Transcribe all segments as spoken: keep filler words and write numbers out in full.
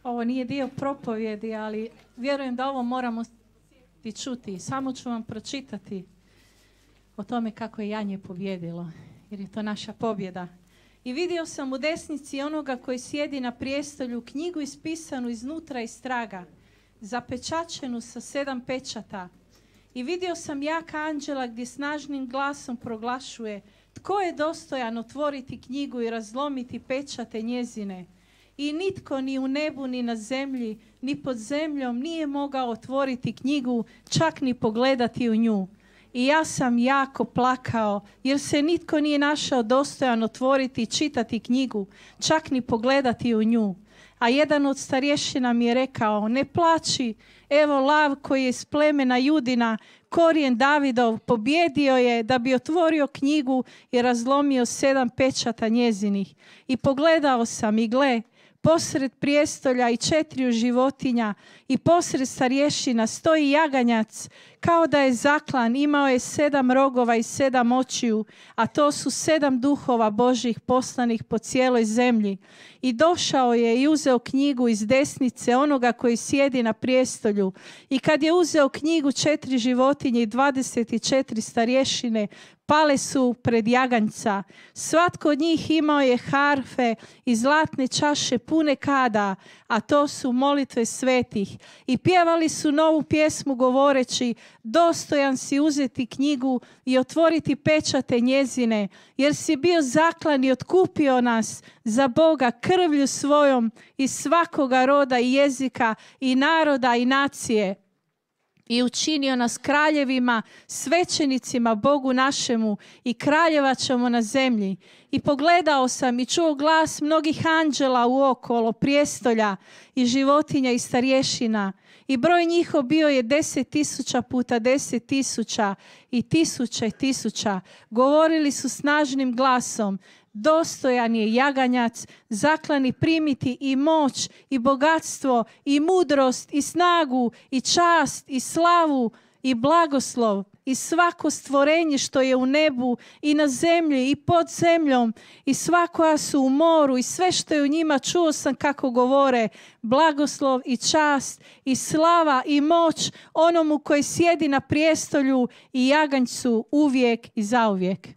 Ovo nije dio propovjedi, ali vjerujem da ovo moramo i čuti. Samo ću vam pročitati o tome kako je janje pobjedilo, jer je to naša pobjeda. I vidio sam u desnici onoga koji sjedi na prijestolju knjigu ispisanu iznutra i straga, zapečačenu sa sedam pečata. I vidio sam jaka anđela gdje snažnim glasom proglašuje: tko je dostojan otvoriti knjigu i razlomiti pečate njezine? I nitko ni u nebu, ni na zemlji, ni pod zemljom nije mogao otvoriti knjigu, čak ni pogledati u nju. I ja sam jako plakao, jer se nitko nije našao dostojan otvoriti i čitati knjigu, čak ni pogledati u nju. A jedan od starješina mi je rekao: ne plači, evo lav koji je iz plemena Judina, korijen Davidov, pobjedio je da bi otvorio knjigu i razlomio sedam pečata njezinih. I pogledao sam i gle, posred prijestolja i četiriju životinja i posred starješina stoji jaganjac, kao da je zaklan, imao je sedam rogova i sedam očiju, a to su sedam duhova Božjih poslanih po cijeloj zemlji. I došao je i uzeo knjigu iz desnice onoga koji sjedi na prijestolju. I kad je uzeo knjigu, četiri životinje i dvadeset četiri starješine pale su pred jaganjca. Svatko od njih imao je harfe i zlatne čaše pune kada, a to su molitve svetih. I pjevali su novu pjesmu govoreći: dostojan si uzeti knjigu i otvoriti pečate njezine, jer si bio zaklan i otkupio nas za Boga krvlju svojom iz svakoga roda i jezika i naroda i nacije. I učinio nas kraljevima, svećenicima Bogu našemu, i kraljevat ćemo na zemlji. I pogledao sam i čuo glas mnogih anđela uokolo prijestolja i životinja i starješina. I broj njihov bio je deset tisuća puta deset tisuća i tisuće tisuća. Govorili su snažnim glasom: dostojan je jaganjac, zaklani primiti i moć i bogatstvo i mudrost i snagu i čast i slavu i blagoslov i svako stvorenje što je u nebu i na zemlji i pod zemljom i sva koja su u moru i sve što je u njima. Čuo sam kako govore: blagoslov i čast i slava i moć onomu koji sjedi na prijestolju i jaganjcu uvijek i zauvijek.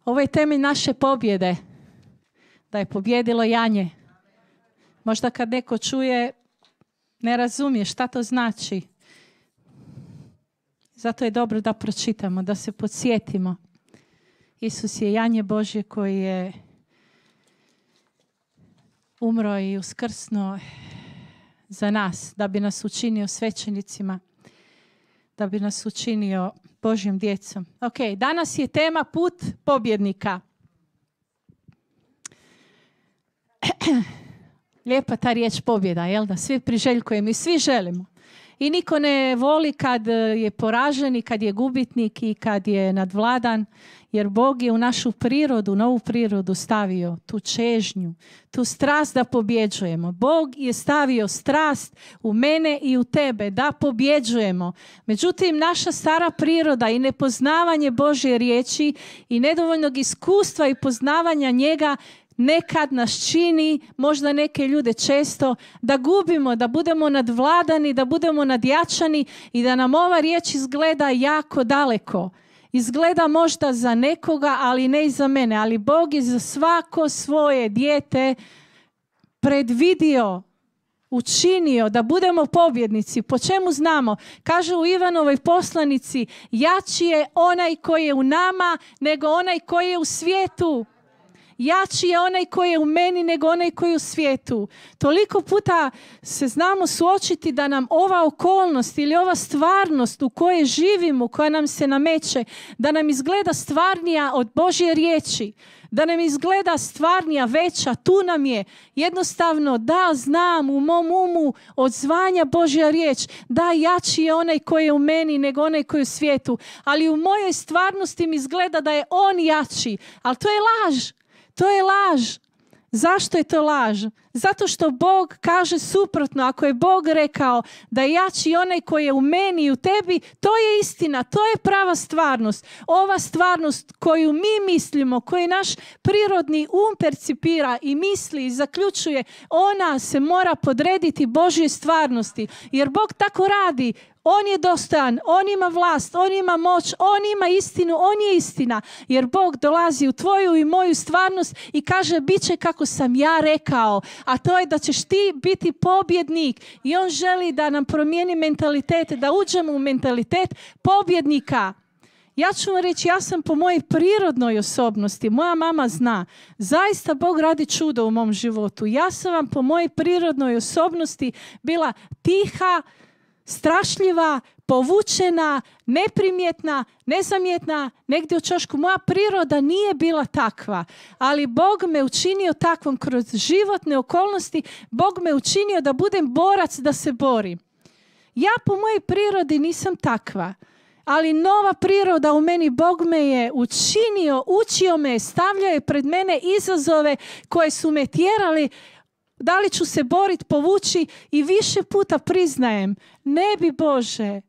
Ovo je temelj naše pobjede, da je pobjedilo janje. Možda kad neko čuje, ne razumije šta to znači. Zato je dobro da pročitamo, da se podsjetimo. Isus je janje Božje koji je umro i uskrsnuo za nas, da bi nas učinio svećenicima, da bi nas učinio Božjom djecom. Ok, danas je tema put pobjednika. Lijepa ta riječ pobjeda, jel da? Svi priželjkujemo i svi želimo. I niko ne voli kad je poražen i kad je gubitnik i kad je nadvladan, jer Bog je u našu prirodu, novu prirodu stavio tu čežnju, tu strast da pobjeđujemo. Bog je stavio strast u mene i u tebe da pobjeđujemo. Međutim, naša stara priroda i nepoznavanje Božje riječi i nedovoljnog iskustva i poznavanja njega nekad nas čini, možda neke ljude često, da gubimo, da budemo nadvladani, da budemo nadjačani i da nam ova riječ izgleda jako daleko. Izgleda možda za nekoga, ali ne i za mene. Ali Bog je za svako svoje dijete predvidio, učinio da budemo pobjednici. Po čemu znamo? Kaže u Ivanovoj poslanici: jači je onaj koji je u nama nego onaj koji je u svijetu. Jači je onaj koji je u meni nego onaj koji je u svijetu. Toliko puta se znamo suočiti da nam ova okolnost ili ova stvarnost u kojoj živimo, koja nam se nameće, da nam izgleda stvarnija od Božje riječi, da nam izgleda stvarnija, veća, tu nam je. Jednostavno, da, znam u mom umu odzvanja Božja riječ, da, jači je onaj koji je u meni nego onaj koji je u svijetu. Ali u mojoj stvarnosti mi izgleda da je on jači, ali to je laž. To je laž. Zašto je to laž? Zato što Bog kaže suprotno. Ako je Bog rekao da je jači onaj koji je u meni i u tebi, to je istina, to je prava stvarnost. Ova stvarnost koju mi mislimo, koju naš prirodni um percipira i misli i zaključuje, ona se mora podrediti Božjoj stvarnosti. Jer Bog tako radi. On je dostojan, on ima vlast, on ima moć, on ima istinu, on je istina. Jer Bog dolazi u tvoju i moju stvarnost i kaže bit će kako sam ja rekao. A to je da ćeš ti biti pobjednik. I on želi da nam promijeni mentalitet, da uđemo u mentalitet pobjednika. Ja ću vam reći, ja sam po mojoj prirodnoj osobnosti, moja mama zna, zaista Bog radi čudo u mom životu. Ja sam vam po mojoj prirodnoj osobnosti bila tiha, strašljiva, povučena, neprimjetna, nezamjetna, negdje u ćošku. Moja priroda nije bila takva, ali Bog me učinio takvom kroz životne okolnosti. Bog me učinio da budem borac, da se borim. Ja po mojoj prirodi nisam takva, ali nova priroda u meni, Bog me je učinio, učio me, stavljao je pred mene izazove koje su me tjerali. Da li ću se boriti, povući i više puta priznajem, ne bi Bože,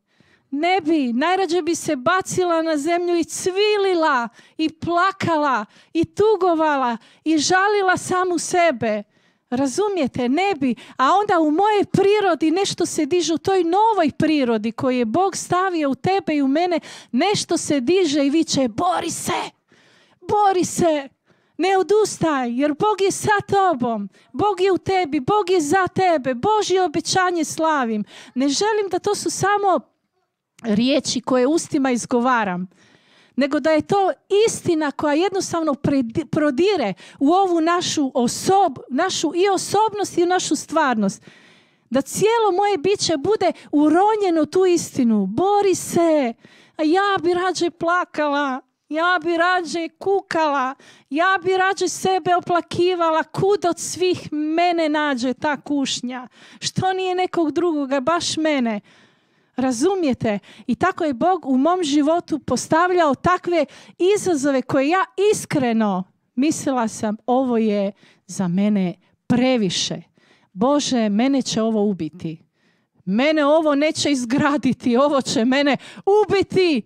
ne bi, najrađe bi se bacila na zemlju i cvilila i plakala i tugovala i žalila samu sebe. Razumijete, ne bi. A onda u mojej prirodi nešto se diže, u toj novoj prirodi koju je Bog stavio u tebe i u mene, nešto se diže i viče, bori se, bori se. Ne odustaj, jer Bog je sa tobom. Bog je u tebi, Bog je za tebe. Božje obećanje slavim. Ne želim da to su samo riječi koje ustima izgovaram, nego da je to istina koja jednostavno prodire u ovu našu, osob, našu i osobnost i našu stvarnost. Da cijelo moje biće bude uronjeno u tu istinu. Bori se, a ja bi rađe plakala. Ja bi rađe kukala, ja bi rađe sebe oplakivala, kud od svih mene nađe ta kušnja. Što nije nekog drugoga, baš mene. Razumijete? I tako je Bog u mom životu postavljao takve izazove koje ja iskreno mislila sam, ovo je za mene previše. Bože, mene će ovo ubiti. Mene ovo neće izgraditi, ovo će mene ubiti.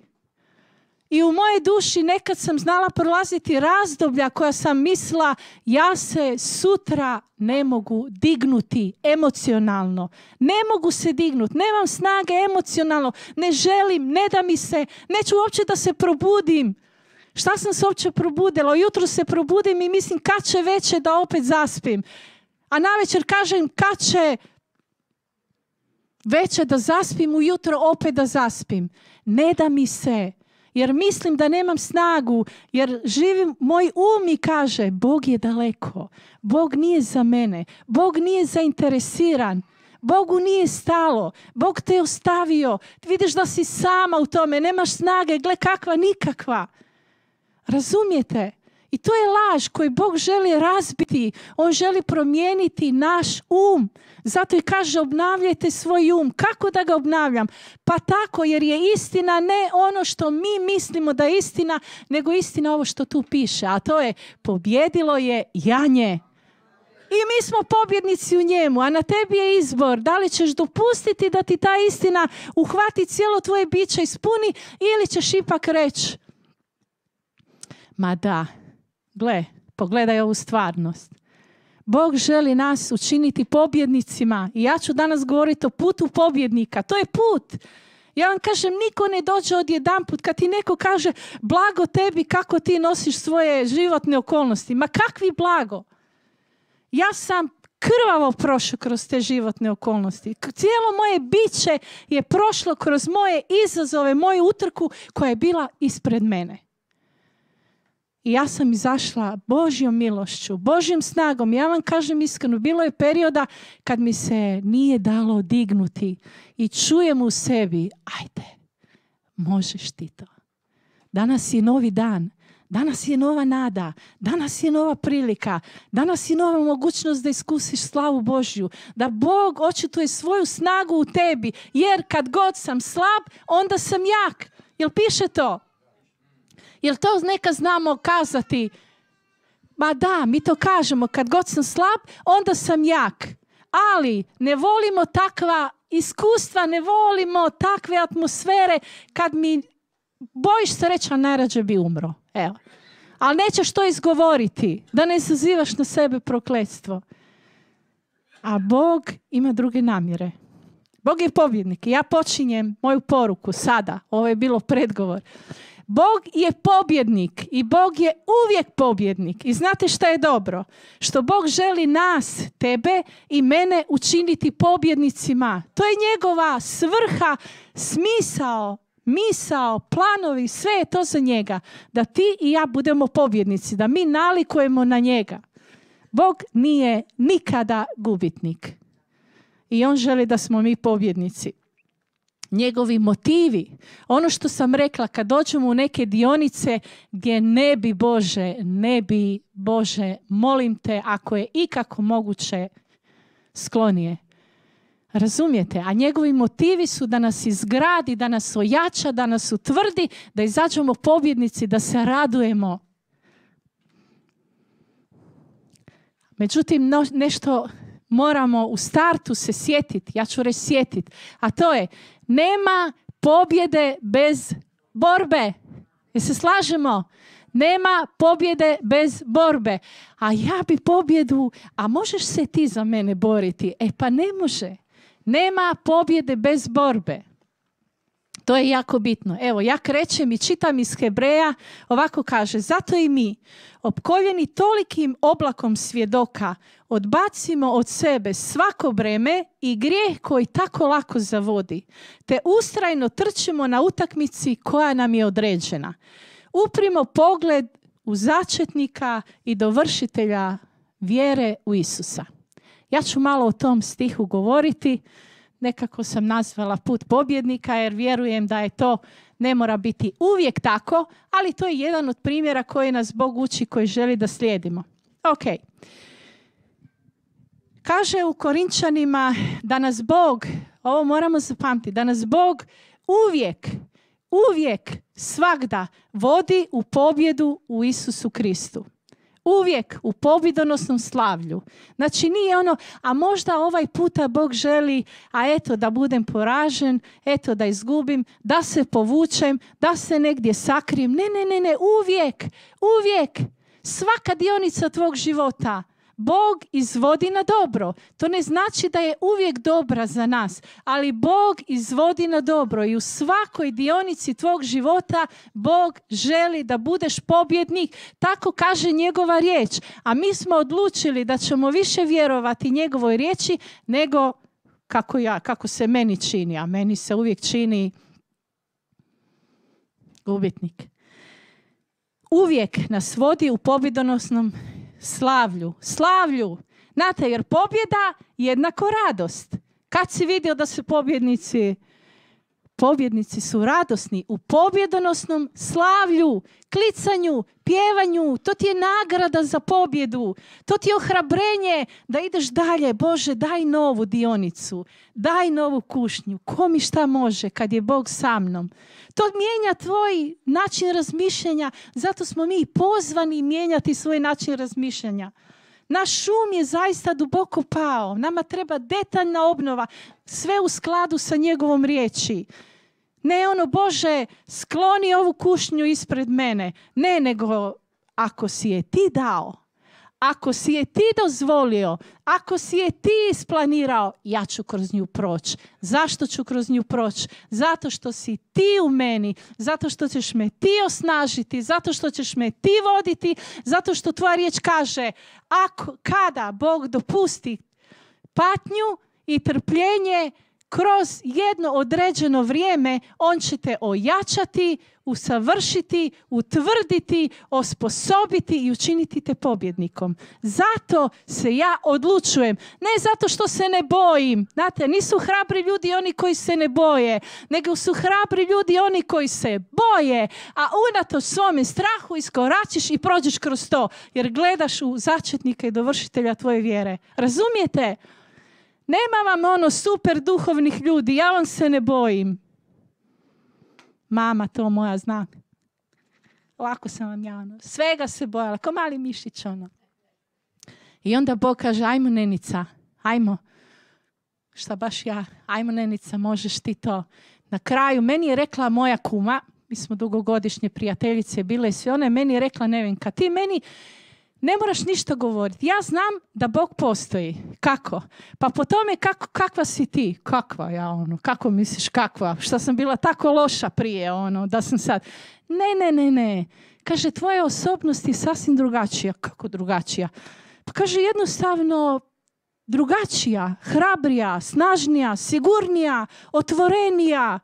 I u mojej duši nekad sam znala prolaziti razdoblja koja sam mislila, ja se sutra ne mogu dignuti emocionalno. Ne mogu se dignuti, nemam snage emocionalno, ne želim, ne da mi se, neću uopće da se probudim. Šta sam se uopće probudila? Jutro se probudim i mislim kad će veće da opet zaspim. A navečer kažem kad će veće da zaspim, ujutro opet da zaspim. Ne da mi se. Jer mislim da nemam snagu, jer živim, moj um mi kaže, Bog je daleko, Bog nije za mene, Bog nije zainteresiran, Bogu nije stalo, Bog te je ostavio, vidiš da si sama u tome, nemaš snage, gle kakva, nikakva. Razumijete? I to je laž koju Bog želi razbiti, On želi promijeniti naš um. Zato i kaže obnavljajte svoj um. Kako da ga obnavljam? Pa tako jer je istina ne ono što mi mislimo da je istina, nego istina ovo što tu piše. A to je pobjedilo je janje. I mi smo pobjednici u njemu, a na tebi je izbor. Da li ćeš dopustiti da ti ta istina uhvati cijelo tvoje biće, ispuni ili ćeš ipak reći ma da, gle, pogledaj ovu stvarnost. Bog želi nas učiniti pobjednicima i ja ću danas govoriti o putu pobjednika. To je put. Ja vam kažem, niko ne dođe odjedanput kad ti neko kaže blago tebi kako ti nosiš svoje životne okolnosti. Ma kakvi blago? Ja sam krvavo prošao kroz te životne okolnosti. Cijelo moje biće je prošlo kroz moje izazove, moju utrku koja je bila ispred mene. I ja sam izašla Božjom milošću, Božjom snagom. Ja vam kažem iskreno, bilo je perioda kad mi se nije dalo dignuti i čujem u sebi, ajde, možeš ti to. Danas je novi dan, danas je nova nada, danas je nova prilika, danas je nova mogućnost da iskusiš slavu Božju, da Bog očituje svoju snagu u tebi, jer kad god sam slab, onda sam jak. Jel piše to? Jel to neka znamo kazati? Ma da, mi to kažemo, kad god sam slab, onda sam jak. Ali ne volimo takva iskustva, ne volimo takve atmosfere kad mi bojiš se reći, a najrađe bi umro. Evo. Ali nećeš to izgovoriti, da ne izazivaš na sebe prokletstvo. A Bog ima druge namjere. Bog je pobjednik. Ja počinjem moju poruku sada. Ovo je bilo predgovor. Bog je pobjednik i Bog je uvijek pobjednik. I znate šta je dobro? Što Bog želi nas, tebe i mene učiniti pobjednicima. To je njegova svrha, smisao, misao, planovi, sve je to za njega. Da ti i ja budemo pobjednici, da mi nalikujemo na njega. Bog nije nikada gubitnik. I on želi da smo mi pobjednici. Njegovi motivi, ono što sam rekla, kad dođemo u neke dionice gdje ne bi Bože, ne bi Bože, molim te, ako je ikako moguće, sklonije. Razumijete? A njegovi motivi su da nas izgradi, da nas ojača, da nas utvrdi, da izađemo pobjednici, da se radujemo. Međutim, no, nešto moramo u startu se sjetiti, ja ću reći sjetiti, a to je, nema pobjede bez borbe. Jer se slažemo? Nema pobjede bez borbe. A ja bi pobjedu, a možeš se ti za mene boriti? E pa ne može. Nema pobjede bez borbe. To je jako bitno. Evo, ja krećem i čitam iz Hebreja, ovako kaže, zato i mi, opkoljeni tolikim oblakom svjedoka, odbacimo od sebe svako breme i grijeh koji tako lako zavodi, te ustrajno trčimo na utakmici koja nam je određena. Uprimo pogled u začetnika i dovršitelja vjere u Isusa. Ja ću malo o tom stihu govoriti. Nekako sam nazvala put pobjednika jer vjerujem da je to, ne mora biti uvijek tako, ali to je jedan od primjera koji nas Bog uči, koji želi da slijedimo. Ok. Kaže u Korinčanima da nas Bog, ovo moramo zapamtiti, da nas Bog uvijek, uvijek, svagda vodi u pobjedu u Isusu Kristu. Uvijek u pobjedonosnom slavlju. Znači nije ono, a možda ovaj puta Bog želi, a eto da budem poražen, eto da izgubim, da se povučem, da se negdje sakrijem. Ne, ne, ne, ne, uvijek, uvijek, svaka dionica tvog života Bog izvodi na dobro. To ne znači da je uvijek dobra za nas, ali Bog izvodi na dobro i u svakoj dionici tvog života Bog želi da budeš pobjednik. Tako kaže njegova riječ. A mi smo odlučili da ćemo više vjerovati njegovoj riječi nego kako, ja, kako se meni čini. A meni se uvijek čini gubitnik. Uvijek nas vodi u pobjedonosnom slavlju. Slavlju. Znate, jer pobjeda jednako radost. Kad si vidio da su pobjednici? Pobjednici su radosni u pobjedonosnom slavlju, klicanju, pjevanju. To ti je nagrada za pobjedu. To ti je ohrabrenje da ideš dalje. Bože, daj novu dionicu. Daj novu kušnju. Ko mi šta može kad je Bog sa mnom? To mijenja tvoj način razmišljanja. Zato smo mi pozvani mijenjati svoj način razmišljanja. Naš um je zaista duboko pao. Nama treba detaljna obnova. Sve u skladu sa njegovom riječi. Ne ono, Bože, skloni ovu kušnju ispred mene. Ne, nego ako si je ti dao, ako si je ti dozvolio, ako si je ti isplanirao, ja ću kroz nju proći. Zašto ću kroz nju proći? Zato što si ti u meni, zato što ćeš me ti osnažiti, zato što ćeš me ti voditi, zato što tvoja riječ kaže, ako, kada Bog dopusti patnju i trpljenje kroz jedno određeno vrijeme, on će te ojačati, usavršiti, utvrditi, osposobiti i učiniti te pobjednikom. Zato se ja odlučujem. Ne zato što se ne bojim. Znate, nisu hrabri ljudi oni koji se ne boje, nego su hrabri ljudi oni koji se boje, a unatoč svome strahu iskoračiš i prođeš kroz to, jer gledaš u začetnika i dovršitelja tvoje vjere. Razumijete? Nema vam ono super duhovnih ljudi, ja vam se ne bojim. Mama to moja zna. lako sam vam ja, ono, svega se bojala, ko mali mišić, ono. I onda Bog kaže, ajmo Nenica, ajmo. Šta baš ja, ajmo Nenica, možeš ti to. Na kraju, meni je rekla moja kuma, mi smo dugogodišnje prijateljice bile i sve, ona je meni rekla, Nevenka, ti meni ne moraš ništa govoriti. Ja znam da Bog postoji. Kako? Pa po tome kako, kakva si ti. Kakva ja ono? Kako misliš kakva? Šta sam bila tako loša prije ono? Da sam sad... Ne, ne, ne, ne. Kaže, tvoja osobnost je sasvim drugačija. Kako drugačija? Pa kaže, jednostavno drugačija, hrabrija, snažnija, sigurnija, otvorenija.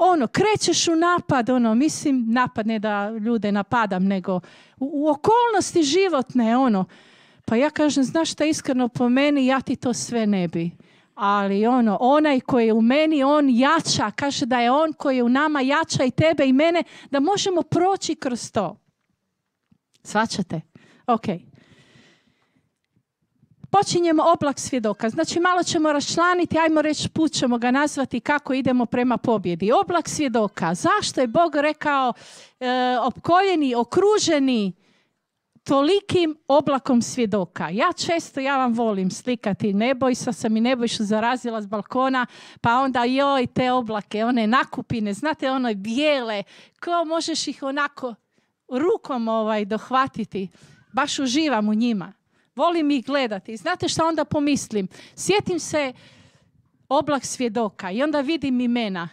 Ono, krećeš u napad, ono, mislim, napad ne da ljude napadam, nego u, u okolnosti životne, ono. Pa ja kažem, znaš šta, iskreno po meni, ja ti to sve ne bi. Ali ono, onaj koji je u meni, on jača, kaže da je on koji je u nama jača i tebe i mene, da možemo proći kroz to. Shvaćate? Ok. Počinjemo oblak svjedoka. Znači malo ćemo raščlaniti, ajmo reći put ćemo ga nazvati kako idemo prema pobjedi. Oblak svjedoka. Zašto je Bog rekao e, opkoljeni, okruženi tolikim oblakom svjedoka? Ja često, ja vam volim slikati Nebojsa, sam i Nebojšu zarazila s balkona, pa onda joj te oblake, one nakupine, znate one bijele, ko možeš ih onako rukom ovaj dohvatiti. Baš uživam u njima. Volim ih gledati. Znate šta onda pomislim? Sjetim se oblak svjedoka i onda vidim imena.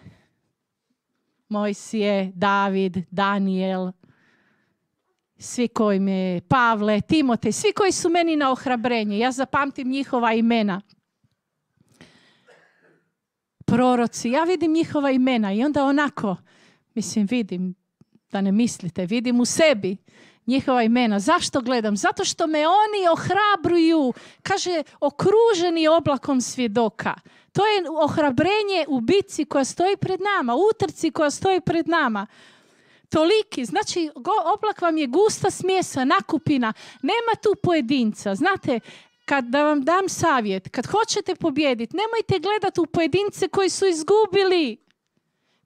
Mojsije, David, Daniel, svi koji me, Pavle, Timotej, svi koji su meni na ohrabrenje. Ja zapamtim njihova imena. Proroci, ja vidim njihova imena i onda onako, mislim, vidim, da ne mislite, vidim u sebi njihova imena. Zašto gledam? Zato što me oni ohrabruju. Kaže, okruženi oblakom svjedoka. To je ohrabrenje u bitci koja stoji pred nama, u utrci koja stoji pred nama. Toliki, znači oblak vam je gusta smjesa, nakupina. Nema tu pojedinca. Znate, kad da vam dam savjet, kad hoćete pobijediti, nemojte gledati u pojedince koji su izgubili,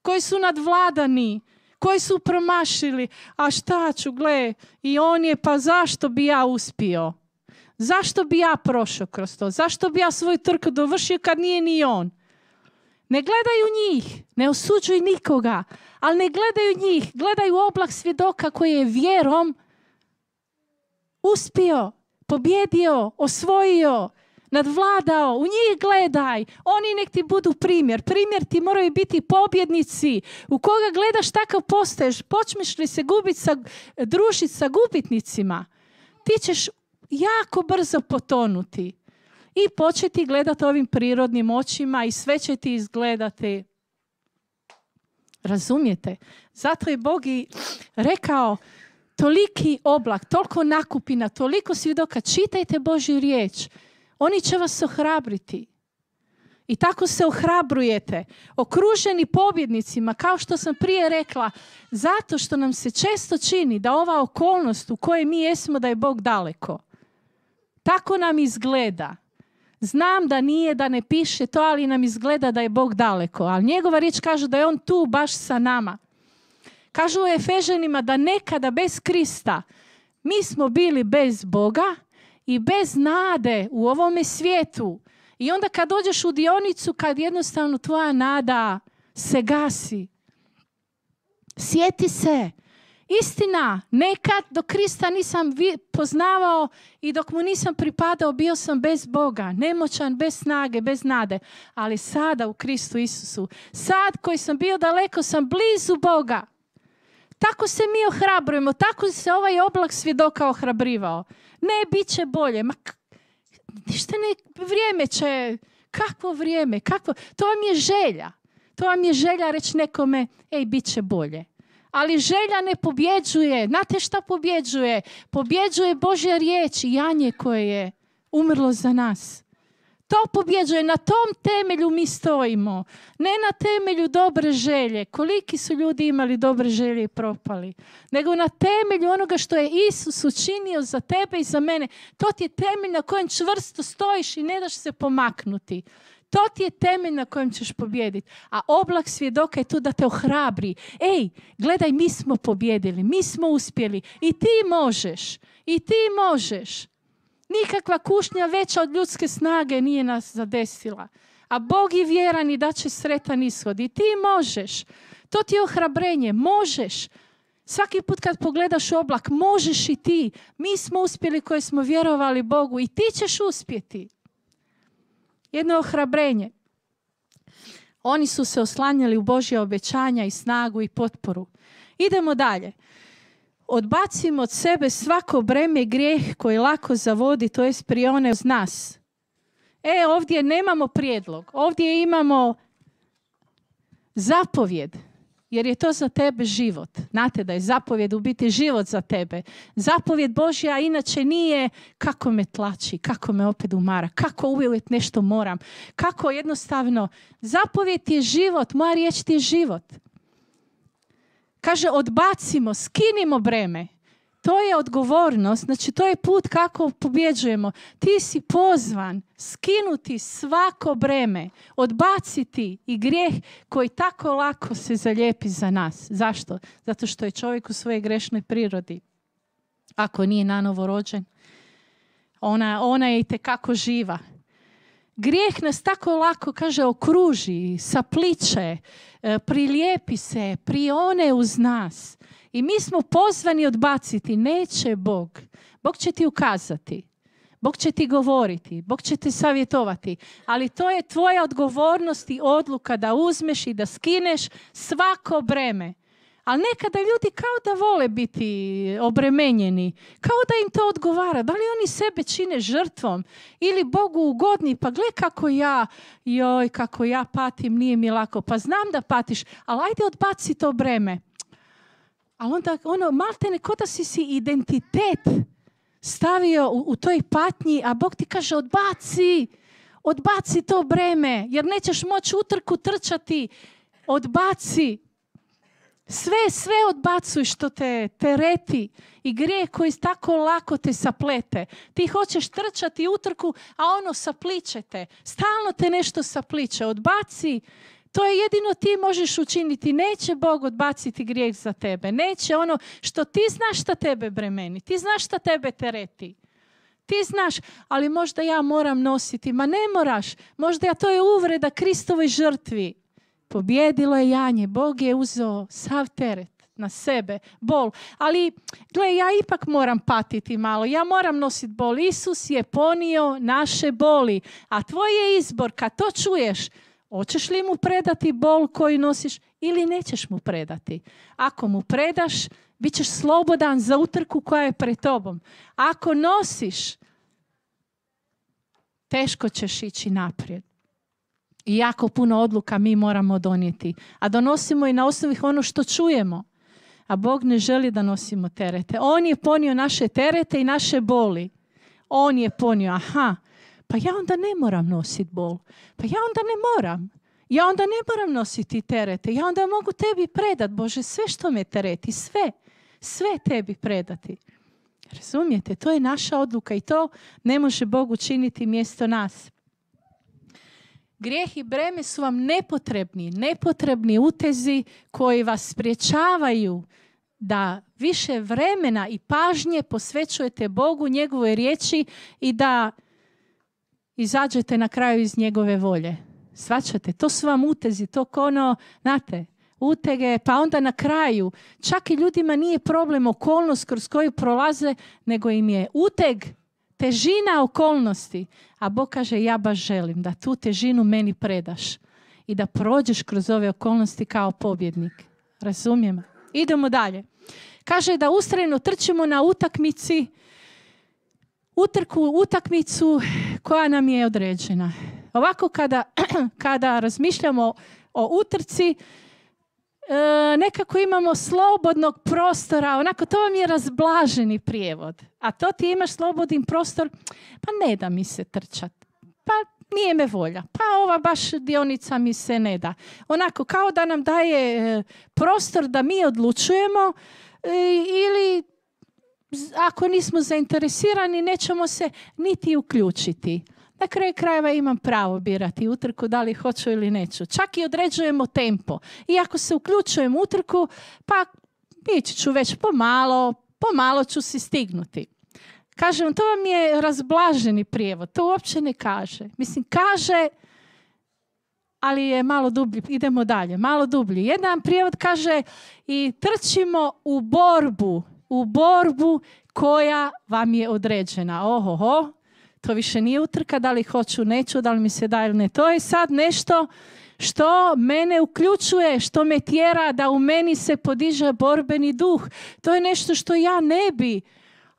koji su nadvladani, koji su promašili. A šta ću, gle, i on je, pa zašto bi ja uspio? Zašto bi ja prošao kroz to? Zašto bi ja svoju trku dovršio kad nije ni on? Ne gledaju njih, ne osuđuju nikoga, ali ne gledaju njih, gledaju oblak svjedoka koji je vjerom uspio, pobjedio, osvojio, nadvladao. U njih gledaj, oni nek ti budu primjer. Primjer ti moraju biti pobjednici. U koga gledaš, takav postaješ. Počneš li se gubiti sa, družiti sa gubitnicima, ti ćeš jako brzo potonuti i početi gledati ovim prirodnim očima i sve će ti izgledati. Razumijete? Zato je Bog i rekao, toliki oblak, toliko nakupina, toliko svjedoka, čitajte Božju riječ. Oni će vas ohrabriti. I tako se ohrabrujete, okruženi pobjednicima, kao što sam prije rekla, zato što nam se često čini da ova okolnost u kojoj mi jesmo, da je Bog daleko. Tako nam izgleda. Znam da nije, da ne piše to, ali nam izgleda da je Bog daleko. Ali njegova riječ kaže da je on tu baš sa nama. Kažu u Efežanima da nekada bez Krista mi smo bili bez Boga i bez nade u ovome svijetu. I onda kad dođeš u dionicu, kad jednostavno tvoja nada se gasi, sjeti se. Istina, nekad dok Krista nisam poznavao i dok mu nisam pripadao, bio sam bez Boga, nemoćan, bez snage, bez nade. Ali sada u Kristu Isusu, sad koji sam bio daleko, sam blizu Boga. Tako se mi ohrabrujemo, tako se ovaj oblak svjedoka ohrabrivao. Ne, bit će bolje. Ma, ništa ne, vrijeme će, kakvo vrijeme, kakvo, to vam je želja. To vam je želja reći nekome, ej, bit će bolje. Ali želja ne pobjeđuje. Znate šta pobjeđuje? Pobjeđuje Božja riječ i janje koje je umrlo za nas. To pobjeđuje. Na tom temelju mi stojimo. Ne na temelju dobre želje. Koliki su ljudi imali dobre želje i propali. Nego na temelju onoga što je Isus učinio za tebe i za mene. To ti je temelj na kojem čvrsto stojiš i ne daš se pomaknuti. To ti je temelj na kojem ćeš pobijediti. A oblak svjedoka je tu da te ohrabri. Ej, gledaj, mi smo pobjedili, mi smo uspjeli. I ti možeš. I ti možeš. Nikakva kušnja veća od ljudske snage nije nas zadesila. A Bog je vjeran i da će sretan ishod. I ti možeš. To ti je ohrabrenje. Možeš. Svaki put kad pogledaš u oblak, možeš i ti. Mi smo uspjeli koji smo vjerovali Bogu i ti ćeš uspjeti. Jedno ohrabrenje. Oni su se oslanjali u Božje obećanja i snagu i potporu. Idemo dalje. Odbacimo od sebe svako breme i grijeh koji lako zavodi, to jest prione uz nas. E, ovdje nemamo prijedlog. Ovdje imamo zapovjed. Jer je to za tebe život. Znate da je zapovjed u biti život za tebe. Zapovjed Božja inače nije kako me tlači, kako me opet umara, kako uvijek nešto moram, kako jednostavno. Zapovjed je život, moja riječ ti je život. Kaže, odbacimo, skinimo breme. To je odgovornost, znači to je put kako pobjeđujemo. Ti si pozvan skinuti svako breme, odbaciti i grijeh koji tako lako se zalijepi za nas. Zašto? Zato što je čovjek u svojoj grešnoj prirodi. Ako nije nanovo rođen, ona, ona je itekako živa. Grijeh nas tako lako, kaže, okruži, sapliče, prilijepi se, prione uz nas. I mi smo pozvani odbaciti. Neće Bog. Bog će ti ukazati. Bog će ti govoriti. Bog će te savjetovati. Ali to je tvoja odgovornost i odluka da uzmeš i da skineš svako breme. Ali nekada ljudi kao da vole biti obremenjeni. Kao da im to odgovara. Da li oni sebe čine žrtvom ili Bogu ugodni? Pa gle kako ja, joj, kako ja patim, nije mi lako. Pa znam da patiš, ali ajde odbaci to breme. Ali onda, ono, maltene, ko da si si identitet stavio u, u toj patnji, a Bog ti kaže, odbaci, odbaci to breme, jer nećeš moći utrku trčati, odbaci. Sve, sve odbacuj što te tereti i grijeh koji tako lako te saplete. Ti hoćeš trčati utrku, a ono sapliče te. Stalno te nešto sapliče. Odbaci. To je jedino ti možeš učiniti. Neće Bog odbaciti grijeh za tebe. Neće ono što ti znaš šta tebe bremeni. Ti znaš šta tebe tereti. Ti znaš, ali možda ja moram nositi. Ma ne moraš. Možda ja, to je uvreda Kristovoj žrtvi. Pobjedilo je janje. Bog je uzeo sav teret na sebe, bol. Ali, gle, ja ipak moram patiti malo. Ja moram nositi bol. Isus je ponio naše boli. A tvoj je izbor, kad to čuješ, hoćeš li mu predati bol koji nosiš ili nećeš mu predati? Ako mu predaš, bit ćeš slobodan za utrku koja je pred tobom. Ako nosiš, teško ćeš ići naprijed. I jako puno odluka mi moramo donijeti. A donosimo i na osnovi ono što čujemo. A Bog ne želi da nosimo terete. On je ponio naše terete i naše boli. On je ponio, aha, pa ja onda ne moram nositi bol. Pa ja onda ne moram. Ja onda ne moram nositi terete. Ja onda mogu tebi predat, Bože, sve što me tereti. Sve. Sve tebi predati. Razumijete? To je naša odluka i to ne može Bog učiniti mjesto nas. Grijeh i breme su vam nepotrebni. Nepotrebni utezi koji vas sprječavaju da više vremena i pažnje posvećujete Bogu, njegovoj riječi i da izađete na kraju iz njegove volje. Shvaćate? To su vam utezi, to ono, znate, utege, pa onda na kraju, čak i ljudima nije problem okolnost kroz koju prolaze, nego im je uteg, težina okolnosti. A Bog kaže, ja baš želim da tu težinu meni predaš i da prođeš kroz ove okolnosti kao pobjednik. Razumijem? Idemo dalje. Kaže da ustrajno trčimo na utakmici, utrku, utakmicu koja nam je određena. Ovako kada, kada razmišljamo o utrci, e, nekako imamo slobodnog prostora, onako to vam je razblaženi prijevod. A to ti imaš slobodni prostor, pa ne da mi se trčat, pa nije me volja, pa ova baš dionica mi se ne da. Onako kao da nam daje e, prostor da mi odlučujemo e, ili ako nismo zainteresirani nećemo se niti uključiti. Na kraju krajeva imam pravo birati utrku da li hoću ili neću. Čak i određujemo tempo. I ako se uključujem u utrku, pa ići ću već pomalo, pomalo ću si stignuti. Kažem, to vam je razblaženi prijevod. To uopće ne kaže. Mislim, kaže, ali je malo dublji. Idemo dalje, malo dublji. Jedan prijevod kaže i trčimo u borbu, u borbu koja vam je određena. Ohoho, to više nije utrka, da li hoću, neću, da li mi se da ili ne. To je sad nešto što mene uključuje, što me tjera da u meni se podiže borbeni duh. To je nešto što ja ne bi,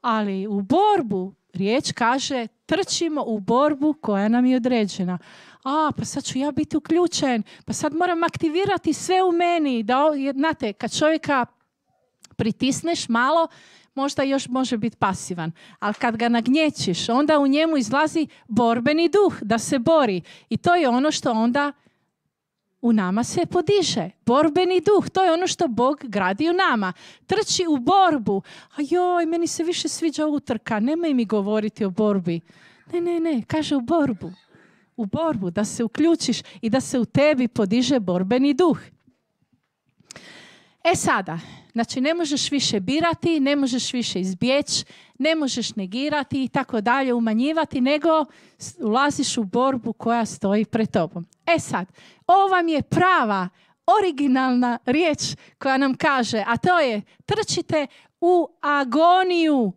ali u borbu, riječ kaže, trčimo u borbu koja nam je određena. A, pa sad ću ja biti uključen, pa sad moram aktivirati sve u meni. Da, znate, kad čovjeka pritisneš malo, možda još može biti pasivan. Ali kad ga nagnječiš, onda u njemu izlazi borbeni duh, da se bori. I to je ono što onda u nama se podiže. Borbeni duh, to je ono što Bog gradi u nama. Trči u borbu. A joj, meni se više sviđa utrka, nemoj mi govoriti o borbi. Ne, ne, ne, kaže u borbu. U borbu, da se uključiš i da se u tebi podiže borbeni duh. E sada, znači ne možeš više birati, ne možeš više izbjeći, ne možeš negirati i tako dalje, umanjivati, nego ulaziš u borbu koja stoji pred tobom. E sad, ovo vam je prava, originalna riječ koja nam kaže, a to je trčite u agoniju.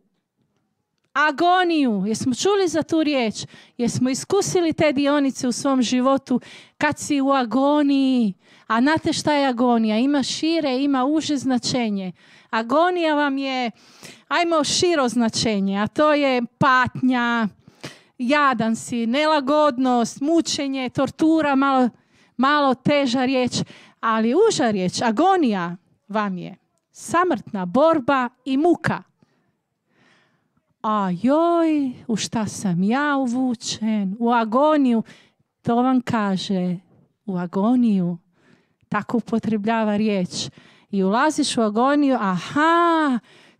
Agoniju. Jesmo čuli za tu riječ? Jesmo iskusili te dionice u svom životu kad si u agoniji? A znate šta je agonija? Ima šire, ima uže značenje. Agonija vam je, ajmo širo značenje, a to je patnja, jadan si, nelagodnost, mučenje, tortura, malo, malo teža riječ, ali uža riječ, agonija vam je samrtna borba i muka. A joj, u šta sam ja uvučen? U agoniju. To vam kaže, u agoniju. Tako upotrebljava riječ. I ulaziš u agoniju, aha,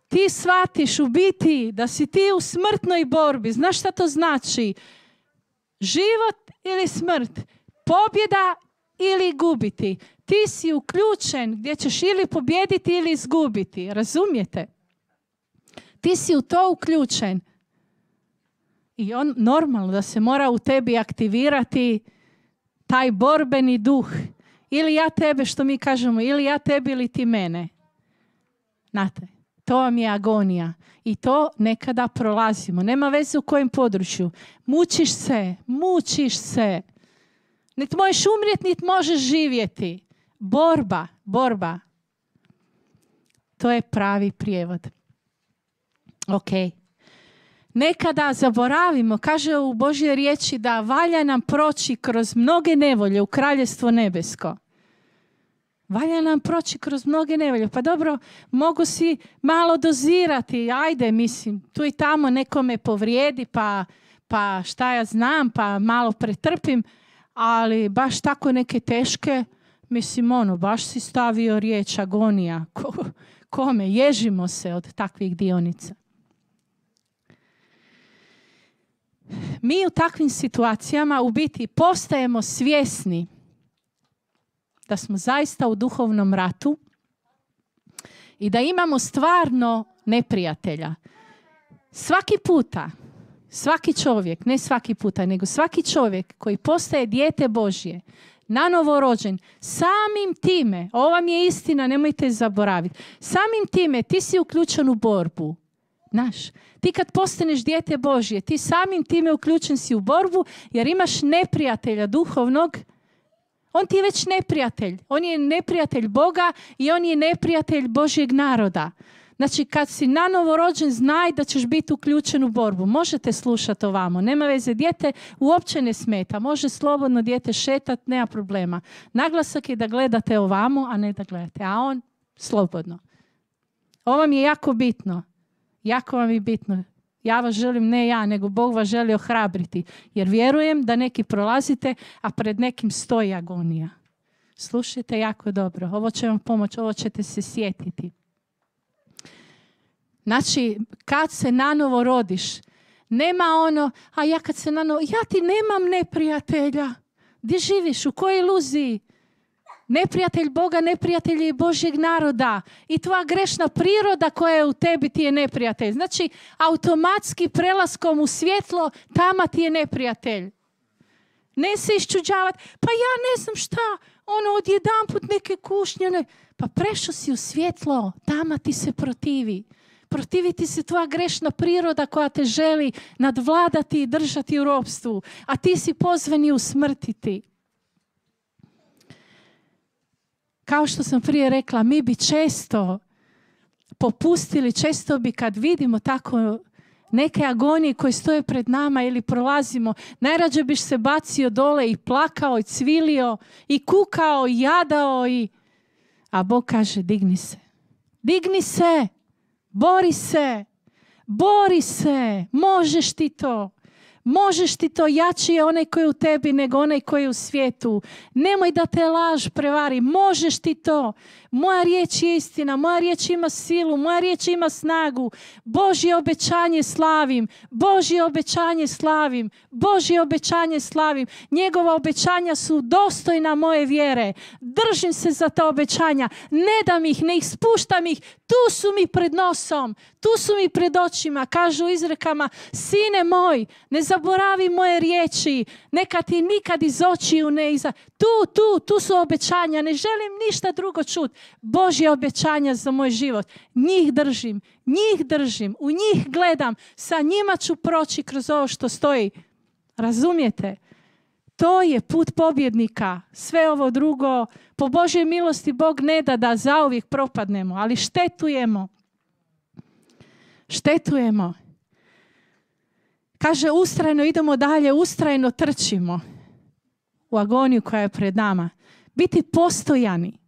ti shvatiš u biti da si ti u smrtnoj borbi. Znaš šta to znači? Život ili smrt? Pobjeda ili gubiti? Ti si uključen gdje ćeš ili pobjediti ili izgubiti. Razumijete? Ti si u to uključen. I on normalno da se mora u tebi aktivirati taj borbeni duh. Ili ja tebe, što mi kažemo, ili ja tebi ili ti mene. Znate, to vam je agonija. I to nekada prolazimo. Nema veze u kojem području. Mučiš se, mučiš se. Niti možeš umrijeti, niti možeš živjeti. Borba, borba. To je pravi prijevod. Ok. Nekada zaboravimo, kaže u Božjoj riječi, da valja nam proći kroz mnoge nevolje u Kraljevstvo nebesko. Valja nam proći kroz mnoge nevolje. Pa dobro, mogu si malo dozirati. Ajde, mislim, tu i tamo nekome povrijedi, pa, pa šta ja znam, pa malo pretrpim. Ali baš tako neke teške, mislim, ono, baš si stavio riječ agonija. Ko, kome? Ježimo se od takvih dionica. Mi u takvim situacijama u biti postajemo svjesni da smo zaista u duhovnom ratu i da imamo stvarno neprijatelja. Svaki puta, svaki čovjek, ne svaki puta, nego svaki čovjek koji postaje dijete Božje, nanovo rođen, samim time, ovo vam je istina, nemojte zaboraviti, samim time ti si uključen u borbu. Znaš, ti kad postaneš dijete Božje, ti samim time uključen si u borbu jer imaš neprijatelja duhovnog. On ti je već neprijatelj. On je neprijatelj Boga i on je neprijatelj Božjeg naroda. Znači, kad si nanovo rođen, znaj da ćeš biti uključen u borbu. Možete slušati ovamo. Nema veze, dijete uopće ne smeta. Može slobodno dijete šetat, nema problema. Naglasak je da gledate ovamo, a ne da gledate. A on slobodno. Ovo vam je jako bitno. Jako vam je bitno. Ja vas želim, ne ja, nego Bog vas želi ohrabriti. Jer vjerujem da neki prolazite, a pred nekim stoji agonija. Slušajte jako dobro. Ovo će vam pomoći, ovo ćete se sjetiti. Znači, kad se nanovo rodiš, Nema ono, a ja kad se nano, ja ti nemam neprijatelja. Gdje živiš? U kojoj iluziji? Neprijatelj Boga, neprijatelj je Božjeg naroda. I tvoja grešna priroda koja je u tebi ti je neprijatelj. Znači, automatski prelaskom u svjetlo, tama ti je neprijatelj. Ne se iščuđavati, pa ja ne znam šta, ono odjedanput neke kušnje. Ne. Pa prešao si u svjetlo, tama ti se protivi. Protivi ti se tvoja grešna priroda koja te želi nadvladati i držati u ropstvu. A ti si pozvan i usmrtiti. Kao što sam prije rekla, mi bi često popustili, često bi kad vidimo tako neke agonije koje stoje pred nama ili prolazimo, najrađe biš se bacio dole i plakao i cvilio i kukao i jadao. I... A Bog kaže, digni se. Digni se. Bori se. Bori se. Možeš ti to. Možeš ti to, jači je onaj koji je u tebi nego onaj koji je u svijetu. Nemoj da te laž prevari. Možeš ti to. Moja riječ je istina. Moja riječ ima silu. Moja riječ ima snagu. Božje obećanje slavim. Božje obećanje slavim. Božje obećanje slavim. Njegova obećanja su dostojna moje vjere. Držim se za ta obećanja. Ne dam ih, ne ih spuštam ih. Tu su mi pred nosom. Tu su mi pred očima. Kažu u izrekama, sine moj, ne zaboravi moje riječi. Neka ti nikad iz očiju ne iza... Tu, tu, tu su obećanja. Ne želim ništa drugo čuti. Božje obećanja za moj život. Njih držim, njih držim, u njih gledam. Sa njima ću proći kroz ovo što stoji. Razumijete? To je put pobjednika. Sve ovo drugo, po Božjoj milosti Bog ne da da zauvijek propadnemo, ali štetujemo. Štetujemo. Kaže, ustrajno idemo dalje, ustrajno trčimo u agoniju koja je pred nama. Biti postojani.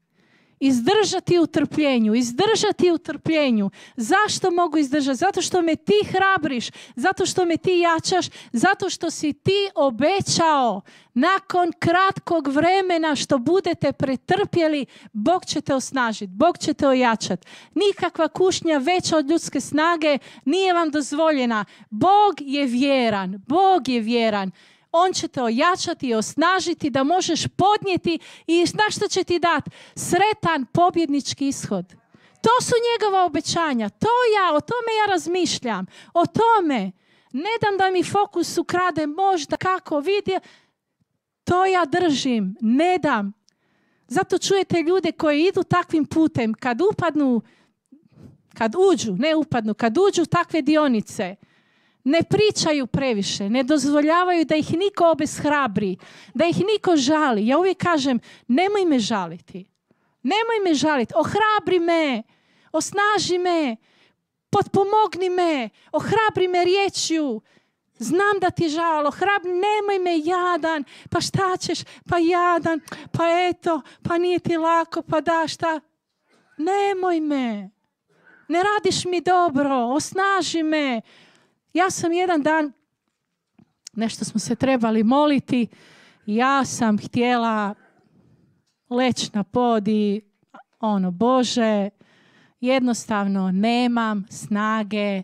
Izdržati u trpljenju, izdržati u trpljenju. Zašto mogu izdržati? Zato što me ti hrabriš, zato što me ti jačaš, zato što si ti obećao nakon kratkog vremena što budete pretrpjeli, Bog će te osnažiti, Bog će te ojačati. Nikakva kušnja veća od ljudske snage nije vam dozvoljena. Bog je vjeran, Bog je vjeran. On će te ojačati i osnažiti da možeš podnijeti i znaš što će ti dati? Sretan pobjednički ishod. To su njegova obećanja. To ja, o tome ja razmišljam. O tome. Ne dam da mi fokus ukrade možda kako vidi. To ja držim. Ne dam. Zato čujete ljude koji idu takvim putem. Kad upadnu, kad uđu, ne upadnu, kad uđu takve dionice, ne pričaju previše, ne dozvoljavaju da ih niko obeshrabri, da ih niko žali. Ja uvijek kažem, nemoj me žaliti. Nemoj me žaliti. Ohrabri me, osnaži me, potpomogni me, ohrabri me riječju. Znam da ti je žal, ohrabri, nemoj me jadan, pa šta ćeš, pa jadan, pa eto, pa nije ti lako, pa da šta. Nemoj me. Ne radiš mi dobro, osnaži me. Ja sam jedan dan, nešto smo se trebali moliti, ja sam htjela leći na pod i ono, Bože, jednostavno nemam snage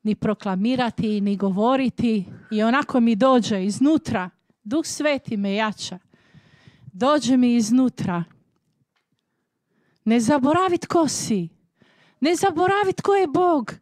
ni proklamirati, ni govoriti i onako mi dođe iznutra, Duh Sveti me jača, dođe mi iznutra. Ne zaboravi tko si, ne zaboravi tko je Bog.